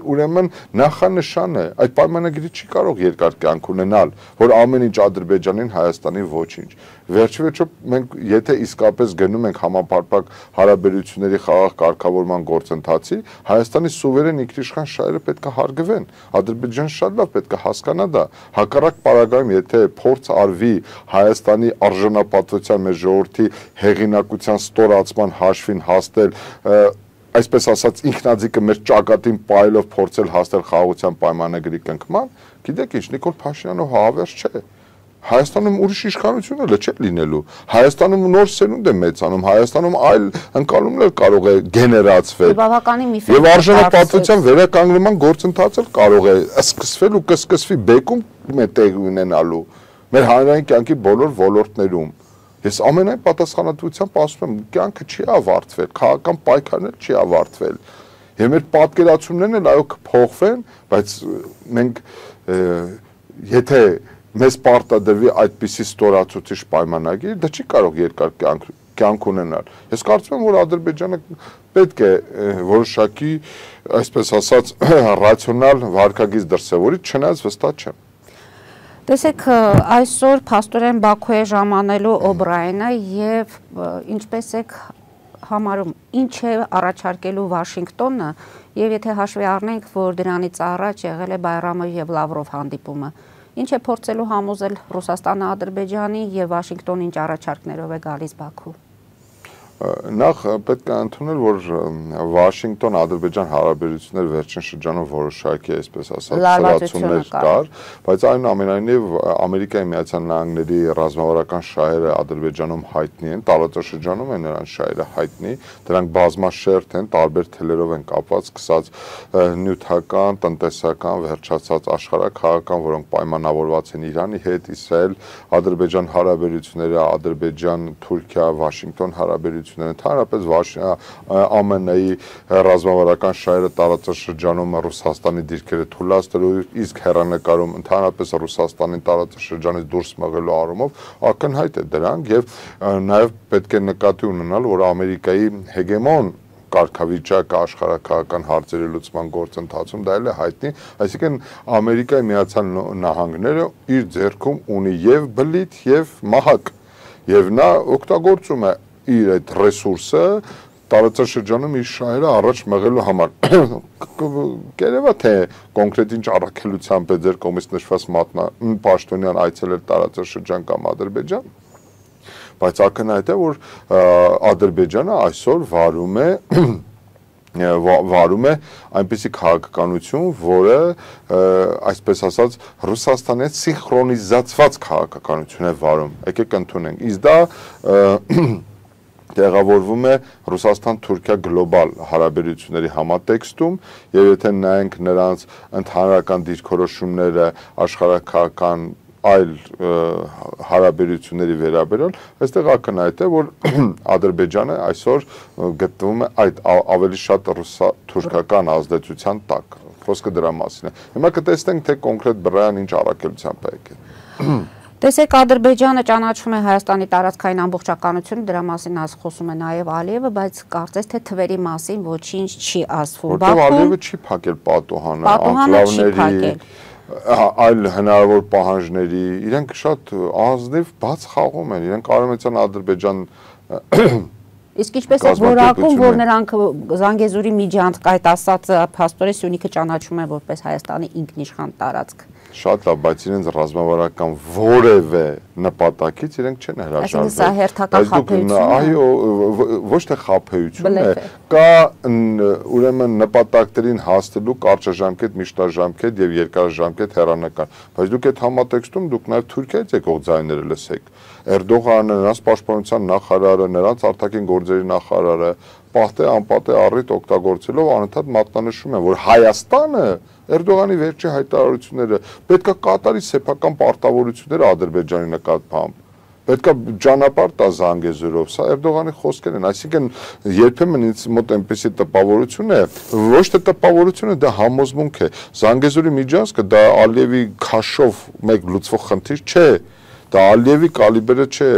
ուրեմն նախանշան է։ Այդ պայմանագրի չի կարող երկար կյանք ունենալ, որ ամեն ինչ Ադրբեջանին, Հայաստանին ոչինչ։ Վերջի վերջո մենք եթե իսկապես գնում ենք համապարփակ հարաբերությունների խաղաղ կարգավորման գործընթացի, Հայաստանի սուվերեն ինքնիշխան շահերը պետք է հարգվեն։ Ադրբեջանը շատ լավ պետք է հասկանա դա։ Հակառակ պարագայում, եթե փորձ արվի Հայաստանի արժանապատվության մեր ժողովրդի հեղինակության ստորացման հաշվին հասնել, այսպես ասած ինքնաձիգը մեր ճակատին պայելով փորձել հասնել խաղաղության պայմանագրի կնքման, գիտեք ինչ, Նիկոլ Փաշինյանով հավերժ չէ։ Հայաստանում ուրիշ իշխանություն էլ չէ լինելու։ Հայաստանում նոր սերունդ է մեծանում, Հայաստանում այլ ընկալումներ կարող է գեներացվել։ Եվ արժանապատվության վերականգնման գործընթացը կարող է սկսվել ու կսկսվի բեկում տեղ ունենալու մեր հանրային կյանքի բոլոր ոլորտներում։ Ես ամենայն պատասխանատվությամբ ասում եմ, կյանքը չի ավարտվել, քաղաքական պայքարն էլ չի ավարտվել։ Եվ մեր պատկերացումներն էլ այո կփոխվեն, բայց մենք եթե մեզ պարտադրվի այդպիսի ստորացուցիչ պայմանագիր, դա չի կարող երկար կյանք կյանք ունենալ։ Ես կարծում եմ, որ Ադրբեջանը պետք է որոշակի, այսպես ասած, ռացիոնալ վարքագիծ դրսևորի, չնայած վստահ չեմ։ Տեսեք, այսօր փաստորեն Բաքու է ժամանելու Օբրայենը եւ ինչպես եք համարում, ինչ է առաջարկելու Վաշինգտոնը եւ եթե հաշվի առնենք, որ դրանից առաջ եղել է Բայրամով եւ Լավրով հանդիպումը, ինչ է փորձելու համոզել Ռուսաստանը Ադրբեջանին եւ Վաշինգտոնը ինչ առաջարկներով է գալիս Բաքու։ Նախ պետք է ընդունել, որ Վաշինգտոն-Ադրբեջան հարաբերություններ վերջին շրջանում որոշակի, այսպես ասած, սրացումներ կար, բայց այնուամենայնիվ Ամերիկայի Միացյալ Նահանգների ռազմավարական շահերը Ադրբեջանում հայտնի են, տարածաշրջանում են նրանց շահերը հայտնի, դրանք բազմաշերտ են, տարբեր թելերով են կապված, սկսած նյութական, տնտեսական, վերջացած աշխարհաքաղաքական, որոնք պայմանավորված են Իրանի հետ, Իսրայել, Ադրբեջան հարաբերությունները, Ադրբեջան, Թուրքիա, Վաշինգտոն հարաբերությունները հարաբերությունները, ընդհանրապես ԱՄՆ Ամեն-ի ռազմավարական շահերը տարածաշրջանում Ռուսաստանի դիրքերը թույլատրելու, իսկ հեռանկարում ընդհանրապես Ռուսաստանի տարածաշրջանից դուրս մղելու առումով ակնհայտ է դրանք եւ նաեւ պետք է նկատի ունենալ, որ Ամերիկայի հեգեմոն կարգավիճակը աշխարհակահական հարցերի լուծման գործընթացում դա էլ է հայտնի, այսինքն Ամերիկայի Միացյալ Նահանգները իր ձեռքում ունի եւ բլիթ եւ մահակ եւ նա օգտագործում է իր այդ ռեսուրսը տարածաշրջանում իր շահերը առաջ մղելու համար։ Կերևա թե կոնկրետ ինչ առաքելությամբ է ձեր կողմից նշված պաշտոնյան այցելել տարածաշրջան կամ Ադրբեջան, բայց ակնհայտ է, որ Ադրբեջանը այսօր վարում է վարում է այնպիսի քաղաքականություն, որը այսպես ասած Ռուսաստանի հետ սինխրոնիզացված քաղաքականություն է վարում։ Եկեք ընդունենք։ Իսկ դա տեղավորվում է Ռուսաստան-Թուրքիա գլոբալ հարաբերությունների համատեքստում եւ եթե նայենք նրանց ընդհանրական դիրքորոշումները աշխարհակահական այլ հարաբերությունների վերաբերյալ, այստեղ ակնհայտ է, որ Ադրբեջանը այսօր գտնվում է այդ ավելի շատ ռուսա-թուրքական ազդեցության տակ։ Խոսքը դրա մասին է։ Հիմա կտեսնենք, թե կոնկրետ բռնան ինչ առաքելությամբ է եկել։ Տեսեք, Ադրբեջանը ճանաչում է Հայաստանի տարածքային ամբողջականությունը, դրա մասին ասում խոսում է նաև Ալիևը, բայց կարծես թե թվերի մասին ոչինչ չի ասվում։ Որտեղ Ալիևը չի փակել պատուհանը, անկլավների, այլ հնարավոր պահանջների, իրենք շատ ազնիվ բաց խաղում են, իրենք Արևմտյան Ադրբեջան Իսկ ինչպես է որակում, որ նրանք Զանգեզուրի միջանցք, այդ ասած փաստորեն Սյունիքը ճանաչում են որպես Հայաստանի ինքնիշխան տարածք։ Շատ լավ, բայց իրենց ռազմավարական որևէ նպատակից իրենք չեն հրաժարվել։ Այսինքն սա հերթական խաբեություն է։ Այո, ոչ թե խաբեություն է, կա ուրեմն նպատակներին հասնելու կարճաժամկետ, միջնաժամկետ եւ երկարաժամկետ հեռանկար, բայց դուք այդ համատեքստում դուք նաեւ Թուրքիայից եկող ձայները լսեք։ Էրդողանը, նրանց պաշտպանության նախարարը, նրանց արտաքին գործերի նախարարը պահտե անպատե առիթ օգտագործելով անընդհատ մատնանշում են, որ Հայաստանը Էրդողանի վերջի հայտարարությունները պետքա կատարի սեփական պարտավորությունները Ադրբեջանի նկատմամբ, պետքա ճանապարհ տա Զանգեզուրով, սա Էրդողանի խոսքերն են, այսինքն երբեմն ինձ մոտ այնպեսի տպավորություն է, ոչ թե տպավորություն է, դա համոզմունք է, Զանգեզուրի միջանցքը դա Ալիևի քաշով մեկ լուծվող խնդիր չէ, դա Ալիևի կալիբրը չէ,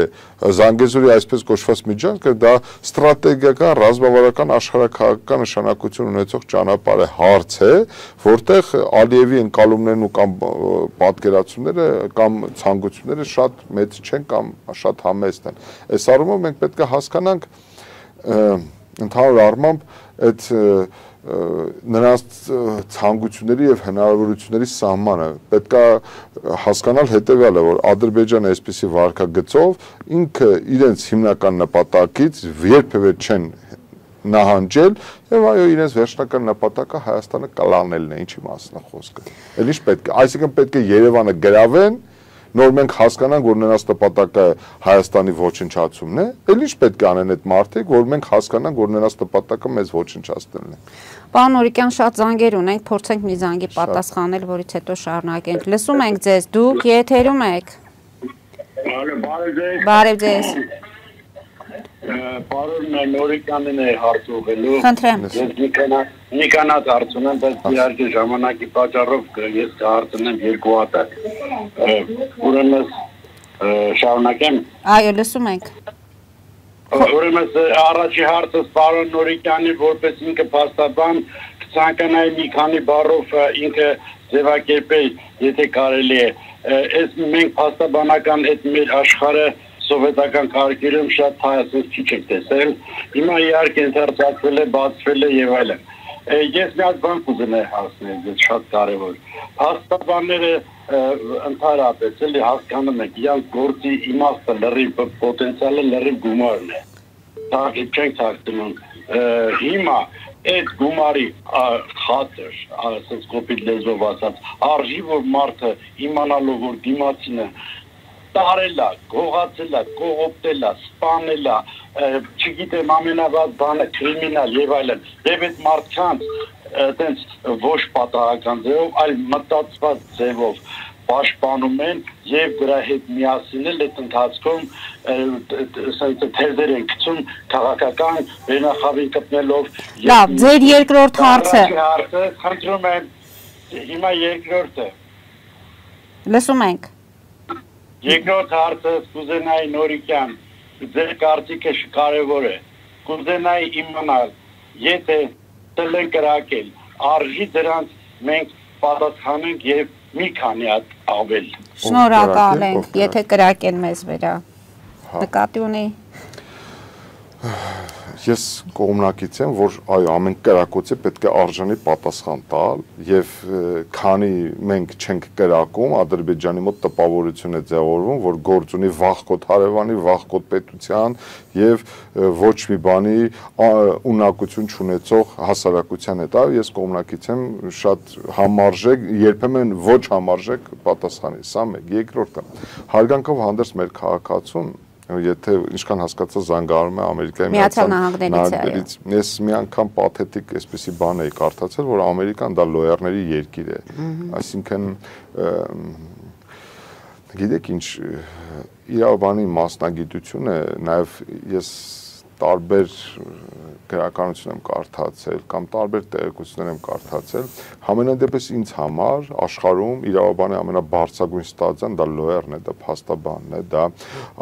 Զանգեզուրի այսպես կոչված միջանցքը դա ստրատեգիական, ռազմավարական, աշխարհակահաղական նշանակություն ունեցող ճանապարհ է, հարց է, որտեղ Ալիևի ընկալումներն ու կամ պատկերացումները կամ ցանկությունները շատ մեծ չեն կամ շատ համեստ են։ Այս առումով մենք պետք է հասկանանք ընդհանուր առմամբ այդ նրանց ցանկությունների եւ հնարավորությունների սահմանը պետք է հասկանալ հետեւյալը, որ Ադրբեջանը այսպիսի վարկագծով ինքը իրենց հիմնական նպատակից երբևէ չեն նահանջել եւ այո իրենց վերջնական նպատակը Հայաստանը կլանելն է, ինչի մասին է խոսքը։ Էլ ինչ պետք է, այսինքն պետք է Երևանը գրավեն, նոր մենք հասկանանք, որ նրանց նպատակը Հայաստանի ոչնչացումն է, էլ ինչ պետք է անեն այդ մարդիկ, որ մենք հասկանանք, որ նրանց նպատակը մեզ ոչնչացնելն է։ Պարոն Նորիկյան, շատ զանգեր ունենք, փորձենք մի զանգի պատասխանել, որից հետո շարունակենք։ Լսում ենք ձեզ, դուք եթերում եք։ Բարև ձեզ։ Պարոն Նորիկյանին է հարց ուղղելու։ Խնդրեմ։ Ես Նիկանաց հարց ունեմ, բայց իհարկե ժամանակի պատճառով ես կհարցնեմ երկու հատ։ Ուրեմն շարունակեմ։ Այո, լսում ենք։ Ուրեմն առաջի հարցը պարոն Նորիկյանի որպես ինքը փաստաբան ցանկանայի մի քանի բառով ինքը ձևակերպել, եթե կարելի է։ Այս մենք փաստաբանական այդ մեր աշխարհը սովետական կարգերում շատ հայացած քիչ եք տեսել։ Հիմա իհարկե ընթերցացվել է, բացվել է եւ այլն։ Ես մի հատ բան կուզենայի հասնել, ես շատ կարևոր։ Փաստաբանները ընդհանրապես էլի հասկանում եք, իրանք գործի իմաստը լրիվ պոտենցիալը լրիվ գումարն է։ Դա չենք հասկանում։ Հիմա այդ գումարի խաթր, ասած կոպիտ լեզվով ասած, արժի որ մարդը իմանալով որ դիմացինը տարելա, գողացելա, կողոպտելա, սպանելա, չգիտեմ ամենավատ բանը կրիմինալ եւ այլն, եւ այդ մարդկանց այտենց ոչ պատահական ձևով, այլ մտածված ձևով պաշտպանում են եւ դրա հետ միասին էլ այդ ընթացքում թերձեր են գցում քաղաքական վերնախավի կպնելով լավ ձեր երկրորդ հարցը խնդրում եմ հիմա երկրորդը լսում ենք երկրորդ հարցը կուզենայի Նորիկյան ձեր կարծիքը կարևոր է կուզենայի իմանալ եթե տել են կրակել արժի դրանց մենք պատասխանենք եւ մի քանի հատ ավել շնորհակալ ենք եթե կրակեն մեզ վրա նկատի ունի ես կողմնակից եմ որ այո ամեն կրակոցի պետք է արժանի պատասխան տալ եւ քանի մենք չենք կրակում Ադրբեջանի մոտ տպավորություն է ձևավորվում որ գործ ունի վախկոտ հարևանի վախկոտ պետության եւ ոչ մի բանի ունակություն չունեցող հասարակության հետ այո ես կողմնակից եմ շատ համարժեք երբեմն ոչ համարժեք պատասխանի սա մեկ երկրորդը հարգանքով հանդերձ մեր քաղաքացուն եթե ինչքան հասկացա զանգահարում է Ամերիկայի Միացյալ Նահանգներից ես մի անգամ պաթետիկ այսպեսի բան էի կարդացել որ Ամերիկան դա լոյարների երկիր է այսինքն գիտեք ինչ իրավաբանի մասնագիտությունը նաև ես տարբեր գրականություն եմ կարդացել կամ տարբեր տեղեկություններ եմ կարդացել համենայնդեպս ինձ համար աշխարհում իրավաբանի ամենաբարձրագույն ստացիան դա լոյերն է դա փաստաբանն է դա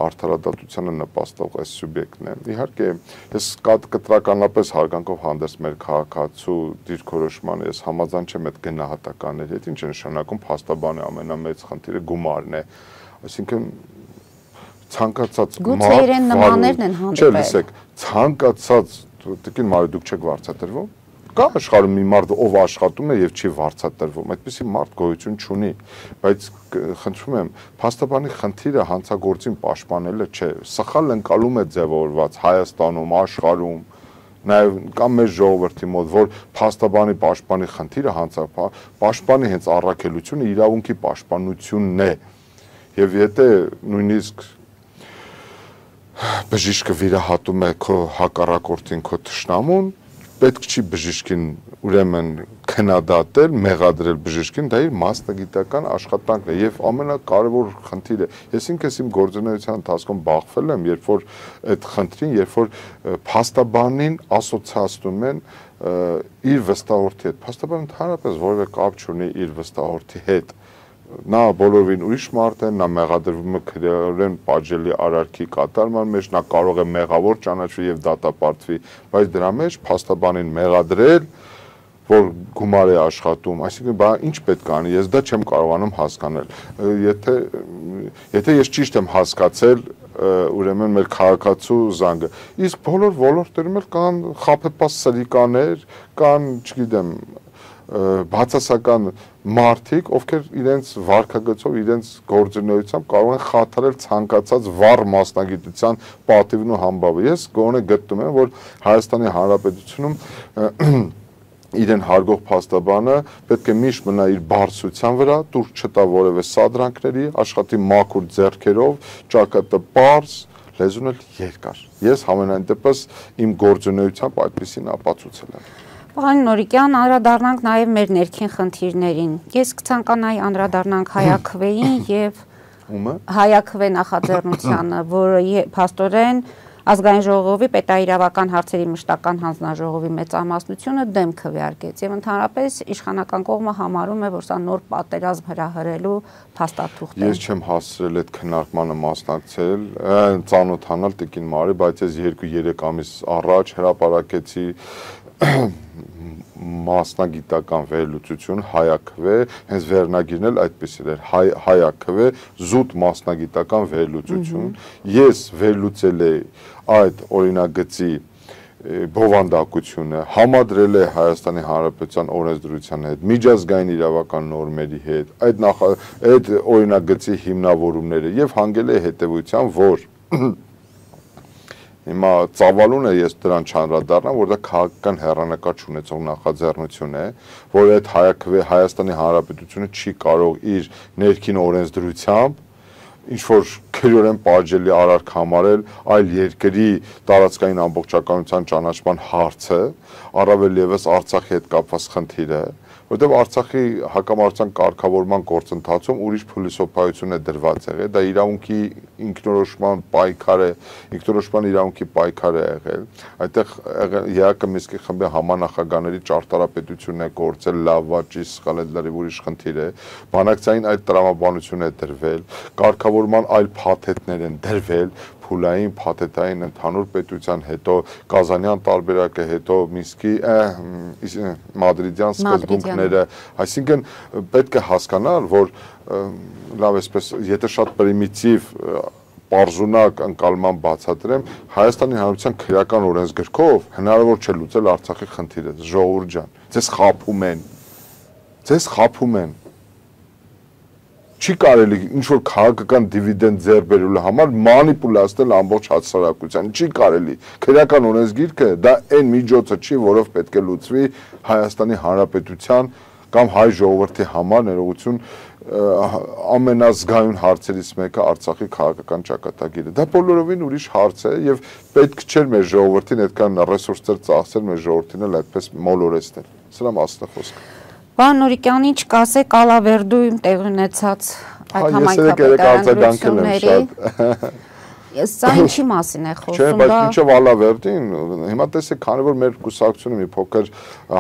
արդարադատությանը նպաստող այս սուբյեկտն է իհարկե ես կտրականապես հարգանքով հանդերձ մեր քաղաքացու դիրքորոշմանը ես համաձայն չեմ այդ գնահատականների հետ ինչ է նշանակում փաստաբանի ամենամեծ խնդիրը գումարն է այսինքն ցանկացած գուցե իրեն նմաններն են հանդիպել չէ լսեք ցանկացած տիկին Մարի դուք չեք վարձատրվում կա աշխարհում մի մարդ ով աշխատում է եւ չի վարձատրվում այդպեսի մարդ գոյություն չունի բայց խնդրում եմ փաստաբանի խնդիրը հանցագործին պաշտպանելը չէ սխալ ընկալում է ձևավորված Հայաստանում աշխարհում նաեւ կամ մեր ժողովրդի մոտ որ փաստաբանի պաշտպանի խնդիրը հանցապա պաշտպանի հենց առաքելությունը իրավունքի պաշտպանությունն է եւ եթե նույնիսկ բժիշկը վիրահատում է քո հակառակորդին քո թշնամուն պետք չի բժիշկին ուրեմն քննադատել մեղադրել բժիշկին դա իր մասնագիտական աշխատանքն է եւ ամենակարևոր խնդիրը ես ինքս իմ գործունեության ընթացքում բախվել եմ երբ որ այդ խնդրին երբ որ փաստաբանին ասոցիացնում են իր վստահորդի հետ փաստաբանը ընդհանրապես որևէ կապ չունի իր վստահորդի հետ նա բոլորին ուրիշ մարդ է, նա մեղադրվում է քրեորեն պատժելի արարքի կատարման մեջ, նա կարող է մեղավոր ճանաչվի եւ դատապարտվի, բայց դրա մեջ փաստաբանին մեղադրել, որ գումար է աշխատում, այսինքն բա ինչ պետք է անի, ես դա չեմ կարողանում հասկանալ։ Եթե եթե ես ճիշտ եմ հասկացել, ուրեմն մեր քաղաքացու զանգը, իսկ բոլոր ոլորտերում էլ կան խաբեբաս սրիկաներ, կան, չգիտեմ, բացասական մարդիկ, ովքեր իրենց վարքագծով, իրենց գործունեությամբ կարող են խաթարել ցանկացած վառ մասնագիտության պատիվն ու համբավը։ Ես գոնե գտնում եմ, որ Հայաստանի Հանրապետությունում իրեն հարգող փաստաբանը պետք է միշտ մնա իր բարձրության վրա, դուր չտա որևէ սադրանքների, աշխատի մաքուր ձեռքերով, ճակատը պարզ, լեզուն էլ երկար։ Ես համենայն դեպս իմ գործունեությամբ այդպեսին ապացուցել եմ։ Պարոն Նորիկյան, անդրադառնանք նաև մեր ներքին խնդիրներին։ Ես կցանկանայի անդրադառնանք Հայաքվեին եւ Հայաքվե նախաձեռնությանը, որը փաստորեն Ազգային ժողովի պետաիրավական հարցերի մշտական հանձնաժողովի մեծամասնությունը դեմ քվեարկեց եւ ընդհանրապես իշխանական կողմը համարում է, որ սա նոր պատերազմ հրահրելու փաստաթուղթ է։ Ես չեմ հասցրել այդ քննարկմանը մասնակցել, ծանոթանալ Տիկին Մարի, բայց ես երկու երեք ամիս առաջ հրապարակեցի մասնագիտական վերլուծություն Հայաքվե, հենց վերնագիրն էլ այդպեսին էր, Հայաքվե զուտ մասնագիտական վերլուծություն։ Ես վերլուծել եմ այդ օրինագծի բովանդակությունը, համադրել է Հայաստանի Հանրապետության օրենսդրության հետ, միջազգային իրավական նորմերի հետ, այդ նախ այդ օրինագծի հիմնավորումները եւ հանգել է հետեւության, որ Հիմա ծավալուն է ես դրան չանդրադառնամ, որ դա քաղաքական հեռանկար չունեցող նախաձեռնություն է, որ այդ Հայաքվե Հայաստանի Հանրապետությունը չի կարող իր ներքին օրենսդրությամբ ինչ որ քրեորեն պատժելի արարք համարել այլ երկրի տարածքային ամբողջականության ճանաչման հարցը, առավել եւս Արցախի հետ կապված խնդիրը, որտեղ Արցախի հակամարտության կարգավորման գործընթացում ուրիշ փիլիսոփայություն է դրված եղել, դա իրավունքի ինքնորոշման պայքար է, ինքնորոշման իրավունքի պայքար է եղել, այդտեղ ԵԱԿ Մինսկի խմբի համանախագահների ճարտարապետությունն է գործել, լավ, ճիշտ, սխալ, դա ուրիշ խնդիր է, բանակցային այլ տրամաբանություն է դրվել, կարգավորման այլ փաթեթներ են դրվել, փուլային, փաթեթային, ընդհանուր պետության, հետո Կազանյան տարբերակը, հետո Մինսկի մադրիդյան սկզբունքները, այսինքն պետք է հասկանալ, որ լավ էսպես, եթե շատ պրիմիտիվ պարզունակ ընկալման բացատրեմ, Հայաստանի Հանրապետության քրեական օրենսգրքով հնարավոր չէ լուծել Արցախի խնդիրը, ժողովուրդ ջան, ձեզ խաբում են, ձեզ խաբում են, չի կարելի ինչ-որ քաղաքական դիվիդենդ ձեռք բերելու համար մանիպուլացնել ամբողջ հասարակության, չի կարելի, քրեական օրենսգիրքը դա այն միջոցը չի, որով պետք է լուծվի Հայաստանի Հանրապետության կամ հայ ժողովրդի համար ներողություն ամենազգայուն հարցերից մեկը Արցախի քաղաքական ճակատագիրը, դա բոլորովին ուրիշ հարց է և պետք չէր մեր ժողովրդին այդքան ռեսուրսներ ծախսել մեր ժողովրդին էլ այդպես մոլորեցնել, սրա մասն է խոսքը։ Պարոն Նուրիկյանին չկասեք Ալավերդույում տեղի ունեցած այդ համայնքապետարանությունների, սա ինչի մասին է խոսում։ Չէ, բայց ինչով Ալավերդին, հիմա տեսեք, քանի որ մեր կուսակցությունը մի փոքր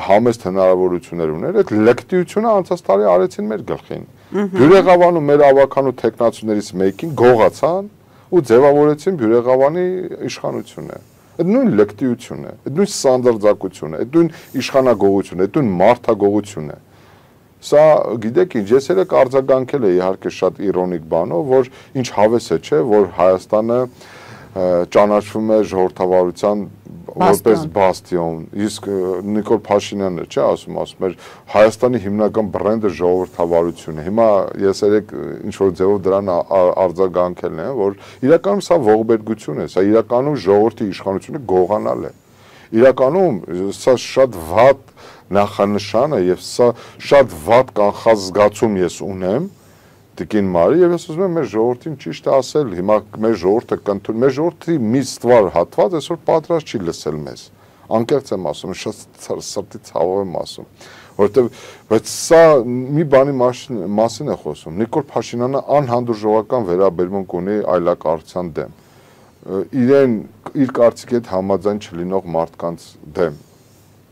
համեստ հնարավորություններ ուներ, այդ լկտիությունը անցած տարի արեցին մեր գլխին։ Բյուրեղավանում մեր ավականու տեխնացուներից մեկին գողացան ու ձևավորեցին Բյուրեղավանի իշխանությունը։ Այդ նույն լկտիությունն է, այդ նույն սանդարձակությունն է, այդ նույն իշխանագողությունն է, այդ նույն մարդագողությունն է։ Սա գիտեք ինչ, ես երեք արձագանքել է իհարկե շատ իրոնիկ բանով, որ ինչ հավես է, չէ, որ Հայաստանը ճանաչվում է ժողովրդավարության որպես բաստիոն, իսկ Նիկոլ Փաշինյանն է, չէ, ասում, ասում էր Հայաստանի հիմնական բրենդը ժողովրդավարությունն է։ Հիմա ես երեք ինչ-որ ձևով դրան արձագանքելն է, որ իրականում սա ողբերգություն է, սա իրականում ժողովրդի իշխանությունը գողանալ է։ Իրականում սա շատ վատ նախանշան է եւ սա շատ վատ կանխազգացում ես ունեմ Տիկին Մարի եւ ես ուզում եմ մեր ժողովրդին ճիշտ ասել, հիմա մեր ժողովուրդը կընդունի, մեր ժողովրդի մի ստվար հատված այսօր պատրաստ չի լսել մեզ։ Անկեղծ եմ ասում, շատ սրտի ցավով եմ ասում, որովհետեւ բայց սա մի բանի մասին է խոսում։ Նիկոլ Փաշինյանը անհանդուրժողական վերաբերմունք ունի այլակարգության դեմ։ Իրեն իր կարծիքի հետ համաձայն չլինող մարդկանց դեմ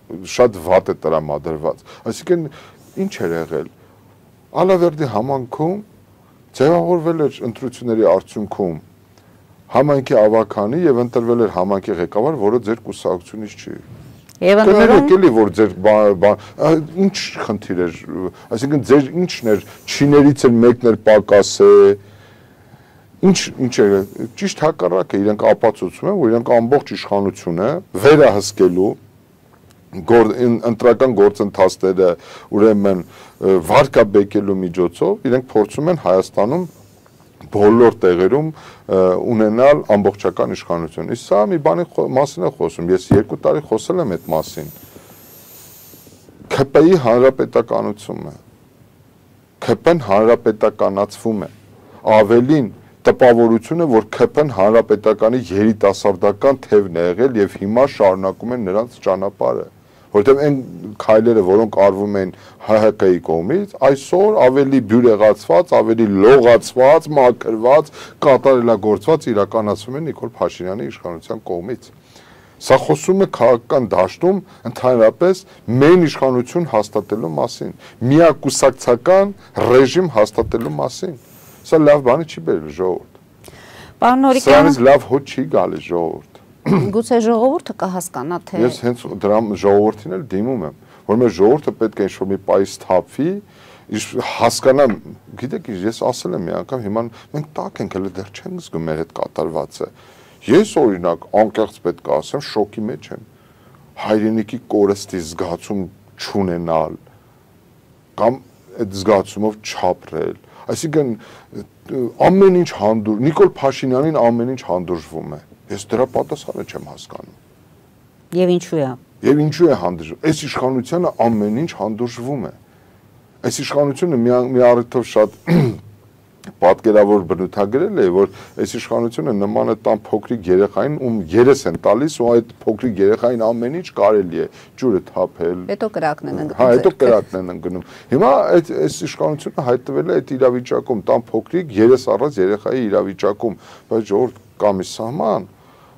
շատ վատ է տրամադրված։ Այսինքն ինչ էր եղել։ Ալավերդի համայնքում ձևավորվել էր ընտրությունների արդյունքում համայնքի ավականի եւ ընտրվել էր համայնքի ղեկավար, որը ձեր կուսակցությունից չի։ Եվ ընդորում էլի որ ձեր ինչ խնդիր էր, այսինքն ձեր ինչն էր, չիներից էլ մեկն էր պակաս է։ Ինչ ինչ է, ճիշտ հակառակը, իրենք ապացուցում են, որ իրենք ամբողջ իշխանությունը վերահսկելու ընտրական գործընթացները ուրեմն վարկաբեկելու միջոցով իրենք փորձում են Հայաստանում բոլոր տեղերում ունենալ ամբողջական իշխանություն։ Իսկ սա մի բանի մասին է խոսում, ես երկու տարի խոսել եմ այդ մասին։ ՔՊ-ի հանրապետականությունը, ՔՊ-ն հանրապետականացվում է, ավելին տպավորությունը, որ ՔՊ-ն հանրապետականի երիտասարդական թևն է եղել եւ հիմա շարունակում են նրանց ճանապարհը, որտեղ այն քայլերը, որոնք արվում են ՀՀԿ-ի կողմից, այսօր ավելի բյուրեղացված, ավելի լողացված, մաքրված, կատարելագործված իրականացվում են Նիկոլ Փաշինյանի իշխանության կողմից։ Սա խոսում է քաղաքական դաշտում ընդհանրապես մեն իշխանություն հաստատելու մասին, միակուսակցական ռեժիմ հաստատելու մասին։ Սա լավ բանի չի բերել ժողովուրդ։ Պարոն Նուրիկյան, սրանից լավ հոտ չի գալիս ժողովուրդ։ Գուցե ժողովուրդը կհասկանա, թե Ես հենց դրա ժողովրդին էլ դիմում եմ, որ մեր ժողովուրդը պետք է ինչ-որ մի պայս թափվի, հասկանա, գիտեք, ես ասել եմ մի անգամ, հիմա մենք տակ ենք, հələ դեռ չենք զգում մեր հետ կատարվածը։ Ես օրինակ անկեղծ պետք է ասեմ, շոկի մեջ եմ։ Հայրենիքի կորստի զգացում չունենալ կամ այդ զգացումով չապրել։ Այսինքն ամեն ինչ հանդուրժ, Նիկոլ Փաշինյանին ամեն ինչ հանդուրժվում է։ Ես դրա պատասխանը չեմ հասկանում։ Եվ ինչու է։ Եվ ինչու է հանդուրժվում։ Այս իշխանությունը ամեն ինչ հանդուրժվում է։ Այս իշխանությունը մի առիթով շատ պատկերավոր բնութագրել է, որ այս իշխանությունը նման է տան փոքրիկ երեխային, ում երես են տալիս, ու այդ փոքրիկ երեխային ամեն ինչ կարելի է ջուրը թափել։ Հետո կրակն են ընկնում։ Հա, հետո կրակն են ընկնում։ Հիմա այդ այս իշխանությունը հայտնվել է այդ իրավիճակում, տան փոքրիկ երես առած երեխայի իրավիճակում, բայց ժողովուրդ կա մի սահման,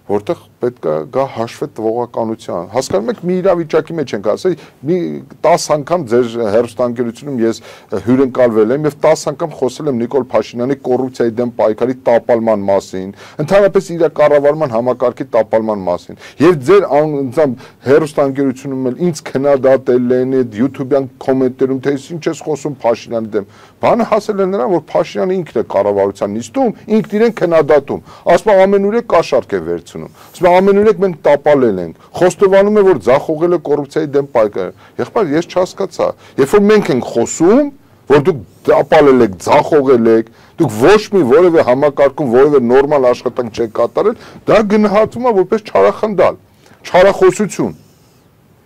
որտեղ պետք է գա հաշվի տվողականության։ Հասկանում եք, մի իրավիճակի մեջ ենք ասել, մի տասը անգամ ձեր հեռուստաընկերությունում ես հյուրընկալվել եմ եւ տասը անգամ խոսել եմ Նիկոլ Փաշինյանի կոռուպցիայի դեմ պայքարի տապալման մասին, ընդհանրապես իր կառավարման համակարգի տապալման մասին։ Եվ ձեր անձամբ հեռուստաընկերությունում էլ ինձ քննադատել են այդ YouTube-յան կոմենտերում, թե ինչ ես խոսում Փաշինյանի դեմ։ Բանը հասել է նրան, որ Փաշինյանը ինքն է կառավարության նիստում, ինքն իրեն քննադատում։ Ասում ամենուրեք կաշառք է վերցնում։ Ամենուրեք մենք տապալել ենք, խոստովանում է, որ ձախողել է կոռուպցիայի դեմ պայքարը։ Եղբայր, ես չհասկացա, երբ որ մենք ենք խոսում, որ դուք տապալել եք, ձախողել եք, դուք ոչ մի որևէ համակարգում որևէ նորմալ աշխատանք չեք կատարել, դա գնահատվում է որպես չարախնդալ, չարախոսություն։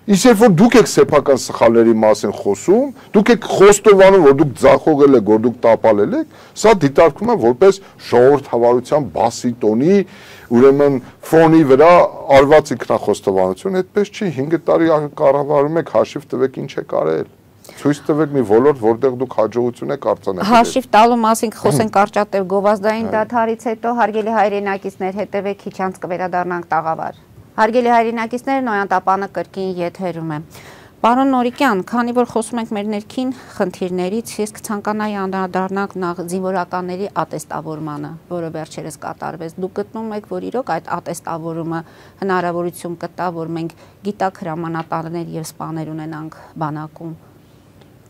Իսկ երբ որ դուք եք սեփական սխալների մասին խոսում, դուք եք խոստովանում, որ դուք ձախողել եք, որ դուք տապալել եք, սա դիտարկվում է որպես ժողովրդավարության բասի տոնի, ուրեմն ֆոնի վրա արված ինքնախոստովանություն, այդպես չի, հինգ տարի կառավարում եք, հաշիվ տվեք ինչ եք արել։ Ցույց տվեք մի ոլորտ, որտեղ դուք հաջողություն եք արձանագրել։ Հաշիվ տալու մասին խոսենք կարճատև գովազդային դադարից հետո, հարգելի հայրենակիցներ, հետևեք քիչ անց կվերադառնանք տաղավար։ Հարգելի հայրենակիցներ, Նոյան տապանը կրկին եթերում է։ Պարոն Նորիկյան, քանի որ խոսում ենք մեր ներքին խնդիրներից, ես կցանկանայի անդրադառնալ նախ զինվորականների ատեստավորմանը, որը վերջերս կատարվեց։ Դուք գտնում եք, որ իրոք այդ ատեստավորումը հնարավորություն կտա, որ մենք գիտակ հրամանատարներ եւ սպաներ ունենանք բանակում։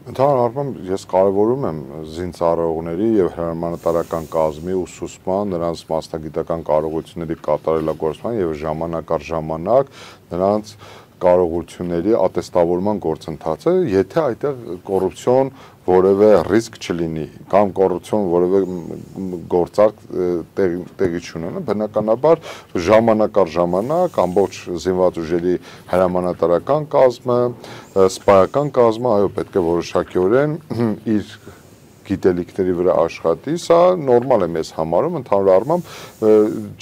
Ընդհանուր առմամբ ես կարևորում եմ զինծառայողների եւ հրամանատարական կազմի ուսուցման, նրանց մասնագիտական կարողությունների կատարելագործման եւ ժամանակ առ ժամանակ նրանց կարողությունների ատեստավորման գործընթացը, եթե այդտեղ կոռուպցիոն որևէ ռիսկ չլինի կամ կոռուպցիոն որևէ գործարք տեղի չունենա, բնականաբար ժամանակ առ ժամանակ ամբողջ զինված ուժերի հրամանատարական կազմը, սպայական կազմը, այո, պետք է որոշակիորեն իր գիտելիքների վրա աշխատի, սա նորմալ եմ ես համարում, ընդհանուր առմամբ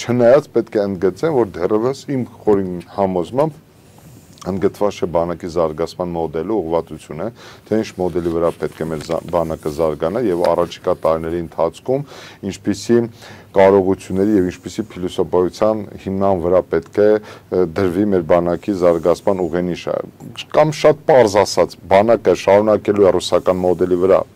չնայած պետք է ընդգծեմ, որ դեռևս իմ խորին համոզմամբ ընդգծված չէ բանակի զարգացման մոդելը, ուղղվածությունը, թե ինչ մոդելի վրա պետք է մեր բանակը զարգանա եւ առաջիկա տարիների ընթացքում ինչպիսի կարողությունների եւ ինչպիսի փիլիսոփայության հիմնան վրա պետք է դրվի մեր բանակի զարգացման ուղենիշը։ Կամ շատ պարզ ասած, բանակը շարունակելու է ռուսական մոդելի վրա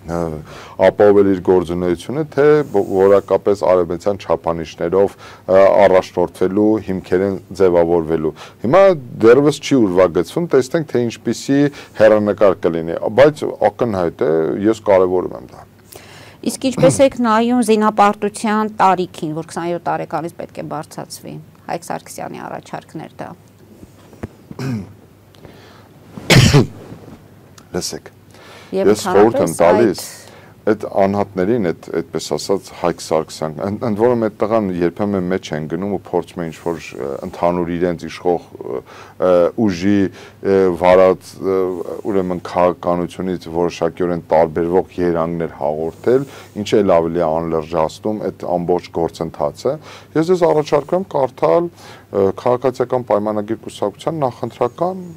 ապահովել իր գործունեությունը, թե որակապես արևմտյան չափանիշներով առաջնորդվելու հիմքեր են ձևավորվելու։ Հիմա դեռևս չի ուրվագծվում, տեսնենք թե ինչպիսի հեռանկար կլինի, բայց ակնհայտ է, ես կարևորում եմ դա։ Իսկ ինչպես եք նայում զինապարտության տարիքին, որ քսաներորդ տարեկանից պետք է բարձրացվի, Հայկ Սարգսյանի առաջարկներ դա։ Լսեք, ես խորհուրդ եմ տալիս այդ անհատներին, այդ այդպես ասած Հայկ Սարգսյան, ընդ որում այդ տղան երբեմն մեջ են գնում ու փորձում են ինչ-որ ընդհանուր իրենց իշխող ուժի վարած ուրեմն քաղաքականությունից որոշակիորեն տարբերվող երանգներ հաղորդել, ինչը էլ ավելի անլրջացնում այդ ամբողջ գործընթացը։ Ես ձեզ առաջարկում եմ կարդալ քաղաքացիական պայմանագիր կուսակցության նախընտրական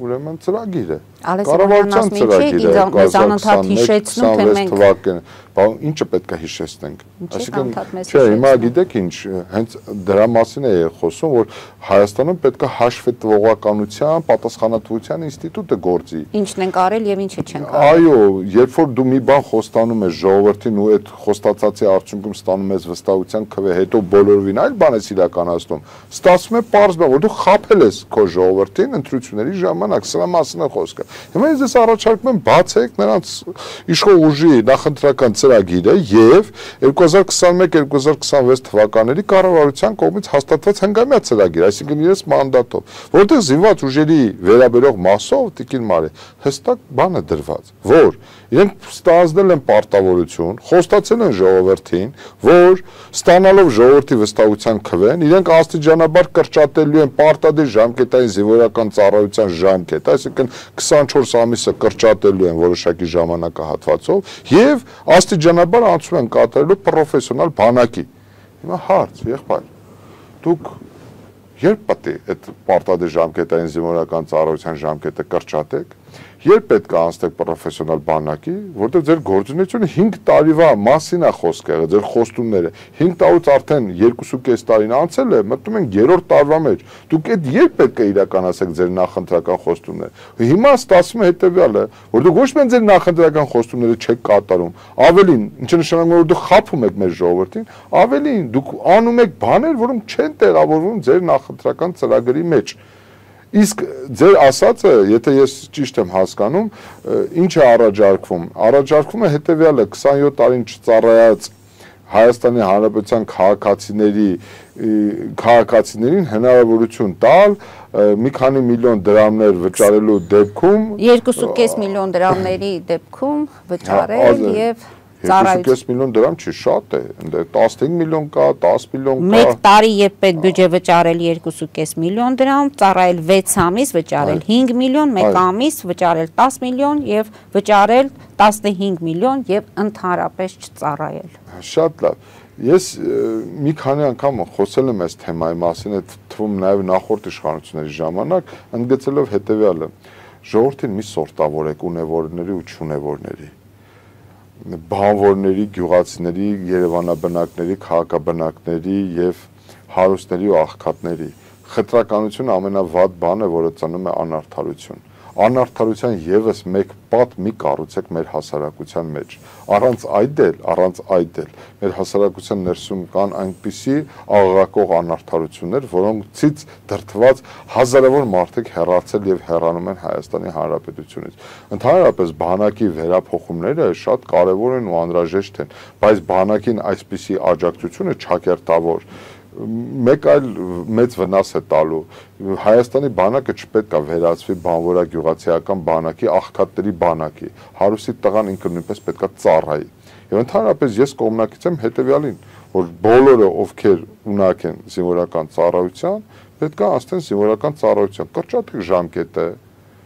ուրեմն ծրագիրը, կառավարության ծրագիրը անընդհատ հիշեցնում, թե մենք բան ինչը պետք է հիշեցնենք, այսինքն չէ, հիմա գիտեք ինչ, հենց դրա մասին է խոսում, որ Հայաստանում պետք է հաշվի տվողականության, պատասխանատվության ինստիտուտը գործի։ Ինչն ենք արել եւ ինչը չենք արել։ Այո, երբ որ դու մի բան խոստանում ես ժողովրդին ու այդ խոստացածի արդյունքում ստանում ես վստահության քվե, հետո բոլորովին այլ բան ես իրականացնում, ստացվում է պարզ բան, որ դու խաբել ես քո ժողովրդին ընտրությունների ժամանակ, սրա մասին է խոսքը։ Հիմա ես ձեզ առաջարկում եմ բացեք նրանց իշխող ուժի նախընտրական ծրագիրը եւ երկու հազար քսաներորդ երկու հազար քսանվեց թվականների կառավարության կողմից հաստատված հնգամյա ծրագիր, այսինքն իրենց մանդատով, որտեղ զինված ուժերի վերաբերող մասով Տիկին Մարի հստակ բան է դրված, որ իրենք ստանձնել են պարտավորություն, խոստացել են ժողովրդին, որ ստանալով ժողովրդի վստահության քվեն, իրենք աստիճանաբար կրճատելու են պարտադիր ժամկետային զինվորական ծառայության ժամկետը, այսինքն քսան քսանչորս ամիսը կրճատելու են որոշակի ժամանակահատվածով եւ աստիճանաբար անցում են կատարելու պրոֆեսիոնալ բանակի։ Հիմա հարց, եղբայր, դուք երբ պետք է այդ պարտադիր ժամկետային զինվորական ծառայության ժամկետը կրճատեք, երբ պետք է անցնեք պրոֆեսիոնալ բանակի, որտեղ ձեր գործունեությունը հինգ տարիվա մասին է խոսքը, ձեր խոստումները հինգ տարուց արդեն երկու կես տարին անցել է, մտնում են երրորդ տարվա մեջ։ Դուք այդ երբ պետք է իրականացեք ձեր նախընտրական խոստումները։ Հիմա ստացվում է հետեւյալը, որ դուք ոչ միայն ձեր նախընտրական խոստումները չեք կատարում, ավելին, ինչը նշանակում է, որ դուք խաբում եք մեր ժողովրդին, ավելին, դուք անում եք բաներ, որոնք չեն տեղավորվում ձեր նախընտրական ծրագրի մեջ։ Իսկ ձեր ասածը, եթե ես ճիշտ եմ հասկանում, ինչ է առաջարկվում։ Առաջարկվում է հետևյալը, քսանյոթ տարին չծառայած Հայաստանի Հանրապետության քաղաքացիների քաղաքացիներին հնարավորություն տալ մի քանի միլիոն դրամներ վճարելու դեպքում երկու կես միլիոն դրամների դեպքում վճարել եւ երկու կես միլիոն դրամ չի, շատ է, տասնհինգ միլիոն կա, դես միլիոն կա։ Մեկ տարի երբ պետ բյուջե վճարել երկու կես միլիոն դրամ, ծառայել վեց ամիս վճարել հինգ միլիոն, մեկ ամիս վճարել դես միլիոն եւ վճարել տասնհինգ միլիոն եւ ընդհանրապես չծառայել։ Շատ լավ։ Ես մի քանի անգամ խոսել եմ այս թեմայի մասին, այդ թվում նաեւ նախորդ իշխանությունների ժամանակ, ընդգծելով հետեւյալը. ժողովրդին մի սորտավորեք ունևորների ու չունևորների, բանվորների, գյուղացիների, երևանաբնակների, քաղաքաբնակների եւ հարուստների ու աղքատների։ Խտրականությունը ամենավատ բանը, որը ծնում է անարդարություն։ Անարդարության եւս մեկ պատ մի կառուցեք մեր հասարակության մեջ։ Առանց այդ էլ, առանց այդ էլ մեր հասարակության ներսում կան այնպիսի աղաղակող անարդարություններ, որոնցից դրդված հազարավոր մարդիկ հեռացել եւ հեռանում են Հայաստանի Հանրապետությունից։ Ընդհանրապես բանակի վերափոխումները շատ կարեւոր են ու անհրաժեշտ են, բայց բանակին այսպիսի աջակցությունը չակերտավոր մեկ այլ մեծ վնաս է տալու։ Հայաստանի բանակը չպետք է վերածվի բանվորագյուղացիական բանակի, աղքատների բանակի։ Հարուսի տղան ինքը նույնպես պետք է ծառայի։ Եվ ընդհանրապես ես կողմնակից եմ հետևյալին, որ բոլորը ովքեր ունակ են զինվորական ծառայության, պետք է անցնեն զինվորական ծառայության, կրճատեք ժամկետը,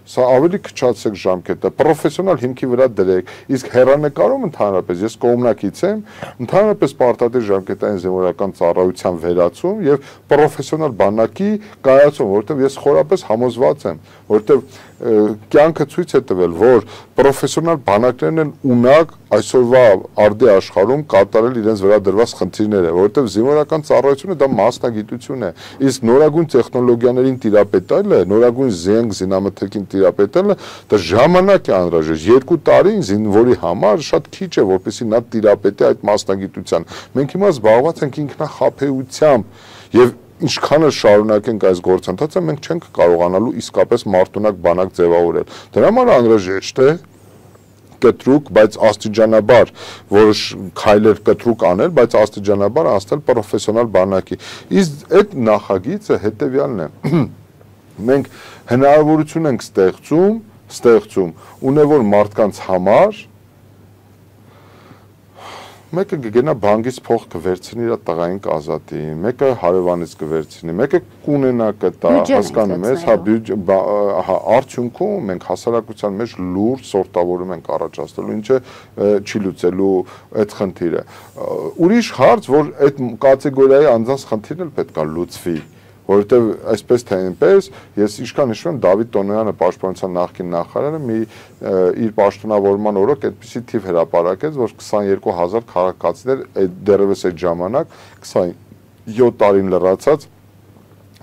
սա ավելի քչացեք ժամկետը, պրոֆեսիոնալ հիմքի վրա դրեք, իսկ հեռանկարում ընդհանրապես ես կողմնակից եմ, ընդհանրապես պարտադիր ժամկետային զինվորական ծառայության վերացում եւ պրոֆեսիոնալ բանակի կայացում, որովհետեւ ես խորապես համոզված եմ, որովհետեւ կյանքը ցույց է տվել, որ պրոֆեսիոնալ բանակներն են ունակ այսօրվա արդի աշխարհում կատարել իրենց վրա դրված խնդիրները, որովհետեւ զինվորական ծառայությունը դա մասնագիտություն է, իսկ նորագույն տեխնոլոգիաներին տիրապետելը, նորագույն զենք զինամթերքին տիրապետելը դա ժամանակ է անհրաժեշտ։ Երկու տարի զինվորի համար շատ քիչ է, որպեսզի նա տիրապետի այդ մասնագիտության։ Մենք հիմա զբաղված ենք ինքնախաբեությամբ եւ ինչքան էլ շարունակենք այս գործընթացը, մենք չենք կարողանալու իսկապես մարտունակ բանակ ձևավորել։ Դրա համար անհրաժեշտ է կտրուկ, բայց աստիճանաբար որոշ քայլեր կտրուկ անել, բայց աստիճանաբար անցնել պրոֆեսիոնալ բանակի։ Իսկ այդ նախագիծը հետեւյալն է. մենք հնարավորություն ենք ստեղծում, ստեղծում ունևոր մարդկանց համար մեկը կգնա բանկից փող կվերցնի իր տղային կազատի, մեկը հարևանից կվերցնի, մեկը կունենա կտա, հասկանում ես, հա արդյունքում մենք հասարակության մեջ լուրջ սորտավորում ենք առաջացնելու, ինչը չի լուծելու այդ խնդիրը։ Ուրիշ հարց, որ այդ կատեգորիայի անձանց խնդիրն էլ պետք է լուծվի, որովհետև այսպես թե այնպես ես ինչքան հիշում եմ Դավիթ Տոնոյանը պաշտպանության նախկին նախարարը մի իր պաշտոնավորման օրոք այդպիսի թիվ հրապարակեց, որ քսաներկու հազար քաղաքացիներ դեռևս այդ ժամանակ քսանյոթ տարին լրացած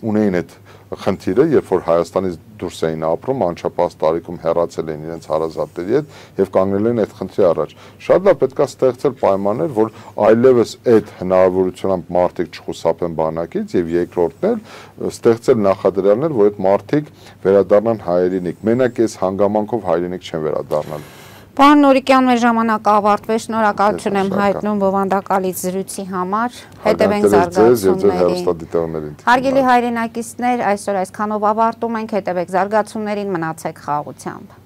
ունեին այդ խնդիրը, երբ որ Հայաստանից դուրս էին ապրում, անչափահաս տարիքում հեռացել էին իրենց հարազատների հետ եւ կանգնել են այդ խնդրի առաջ։ Շատ լավ պետք է ստեղծել պայմաններ, որ այլևս այդ հնարավորությամբ մարդիկ չխուսափեն բանակից եւ երկրորդն էլ ստեղծել նախադրյալներ, որ այդ մարդիկ վերադառնան հայրենիք։ Մենակ այս հանգամանքով հայրենիք չեն վերադառնալ։ Պարոն Նորիկյան, մեր ժամանակը ավարտվեց, շնորհակալություն եմ հայտնում բովանդակալից զրույցի համար, հետևենք զարգացումներին։ Հարգելի հայրենակիցներ, այսօր այսքանով ավարտում ենք, հետևեք զարգացումներին, մնացեք խաղաղությամբ։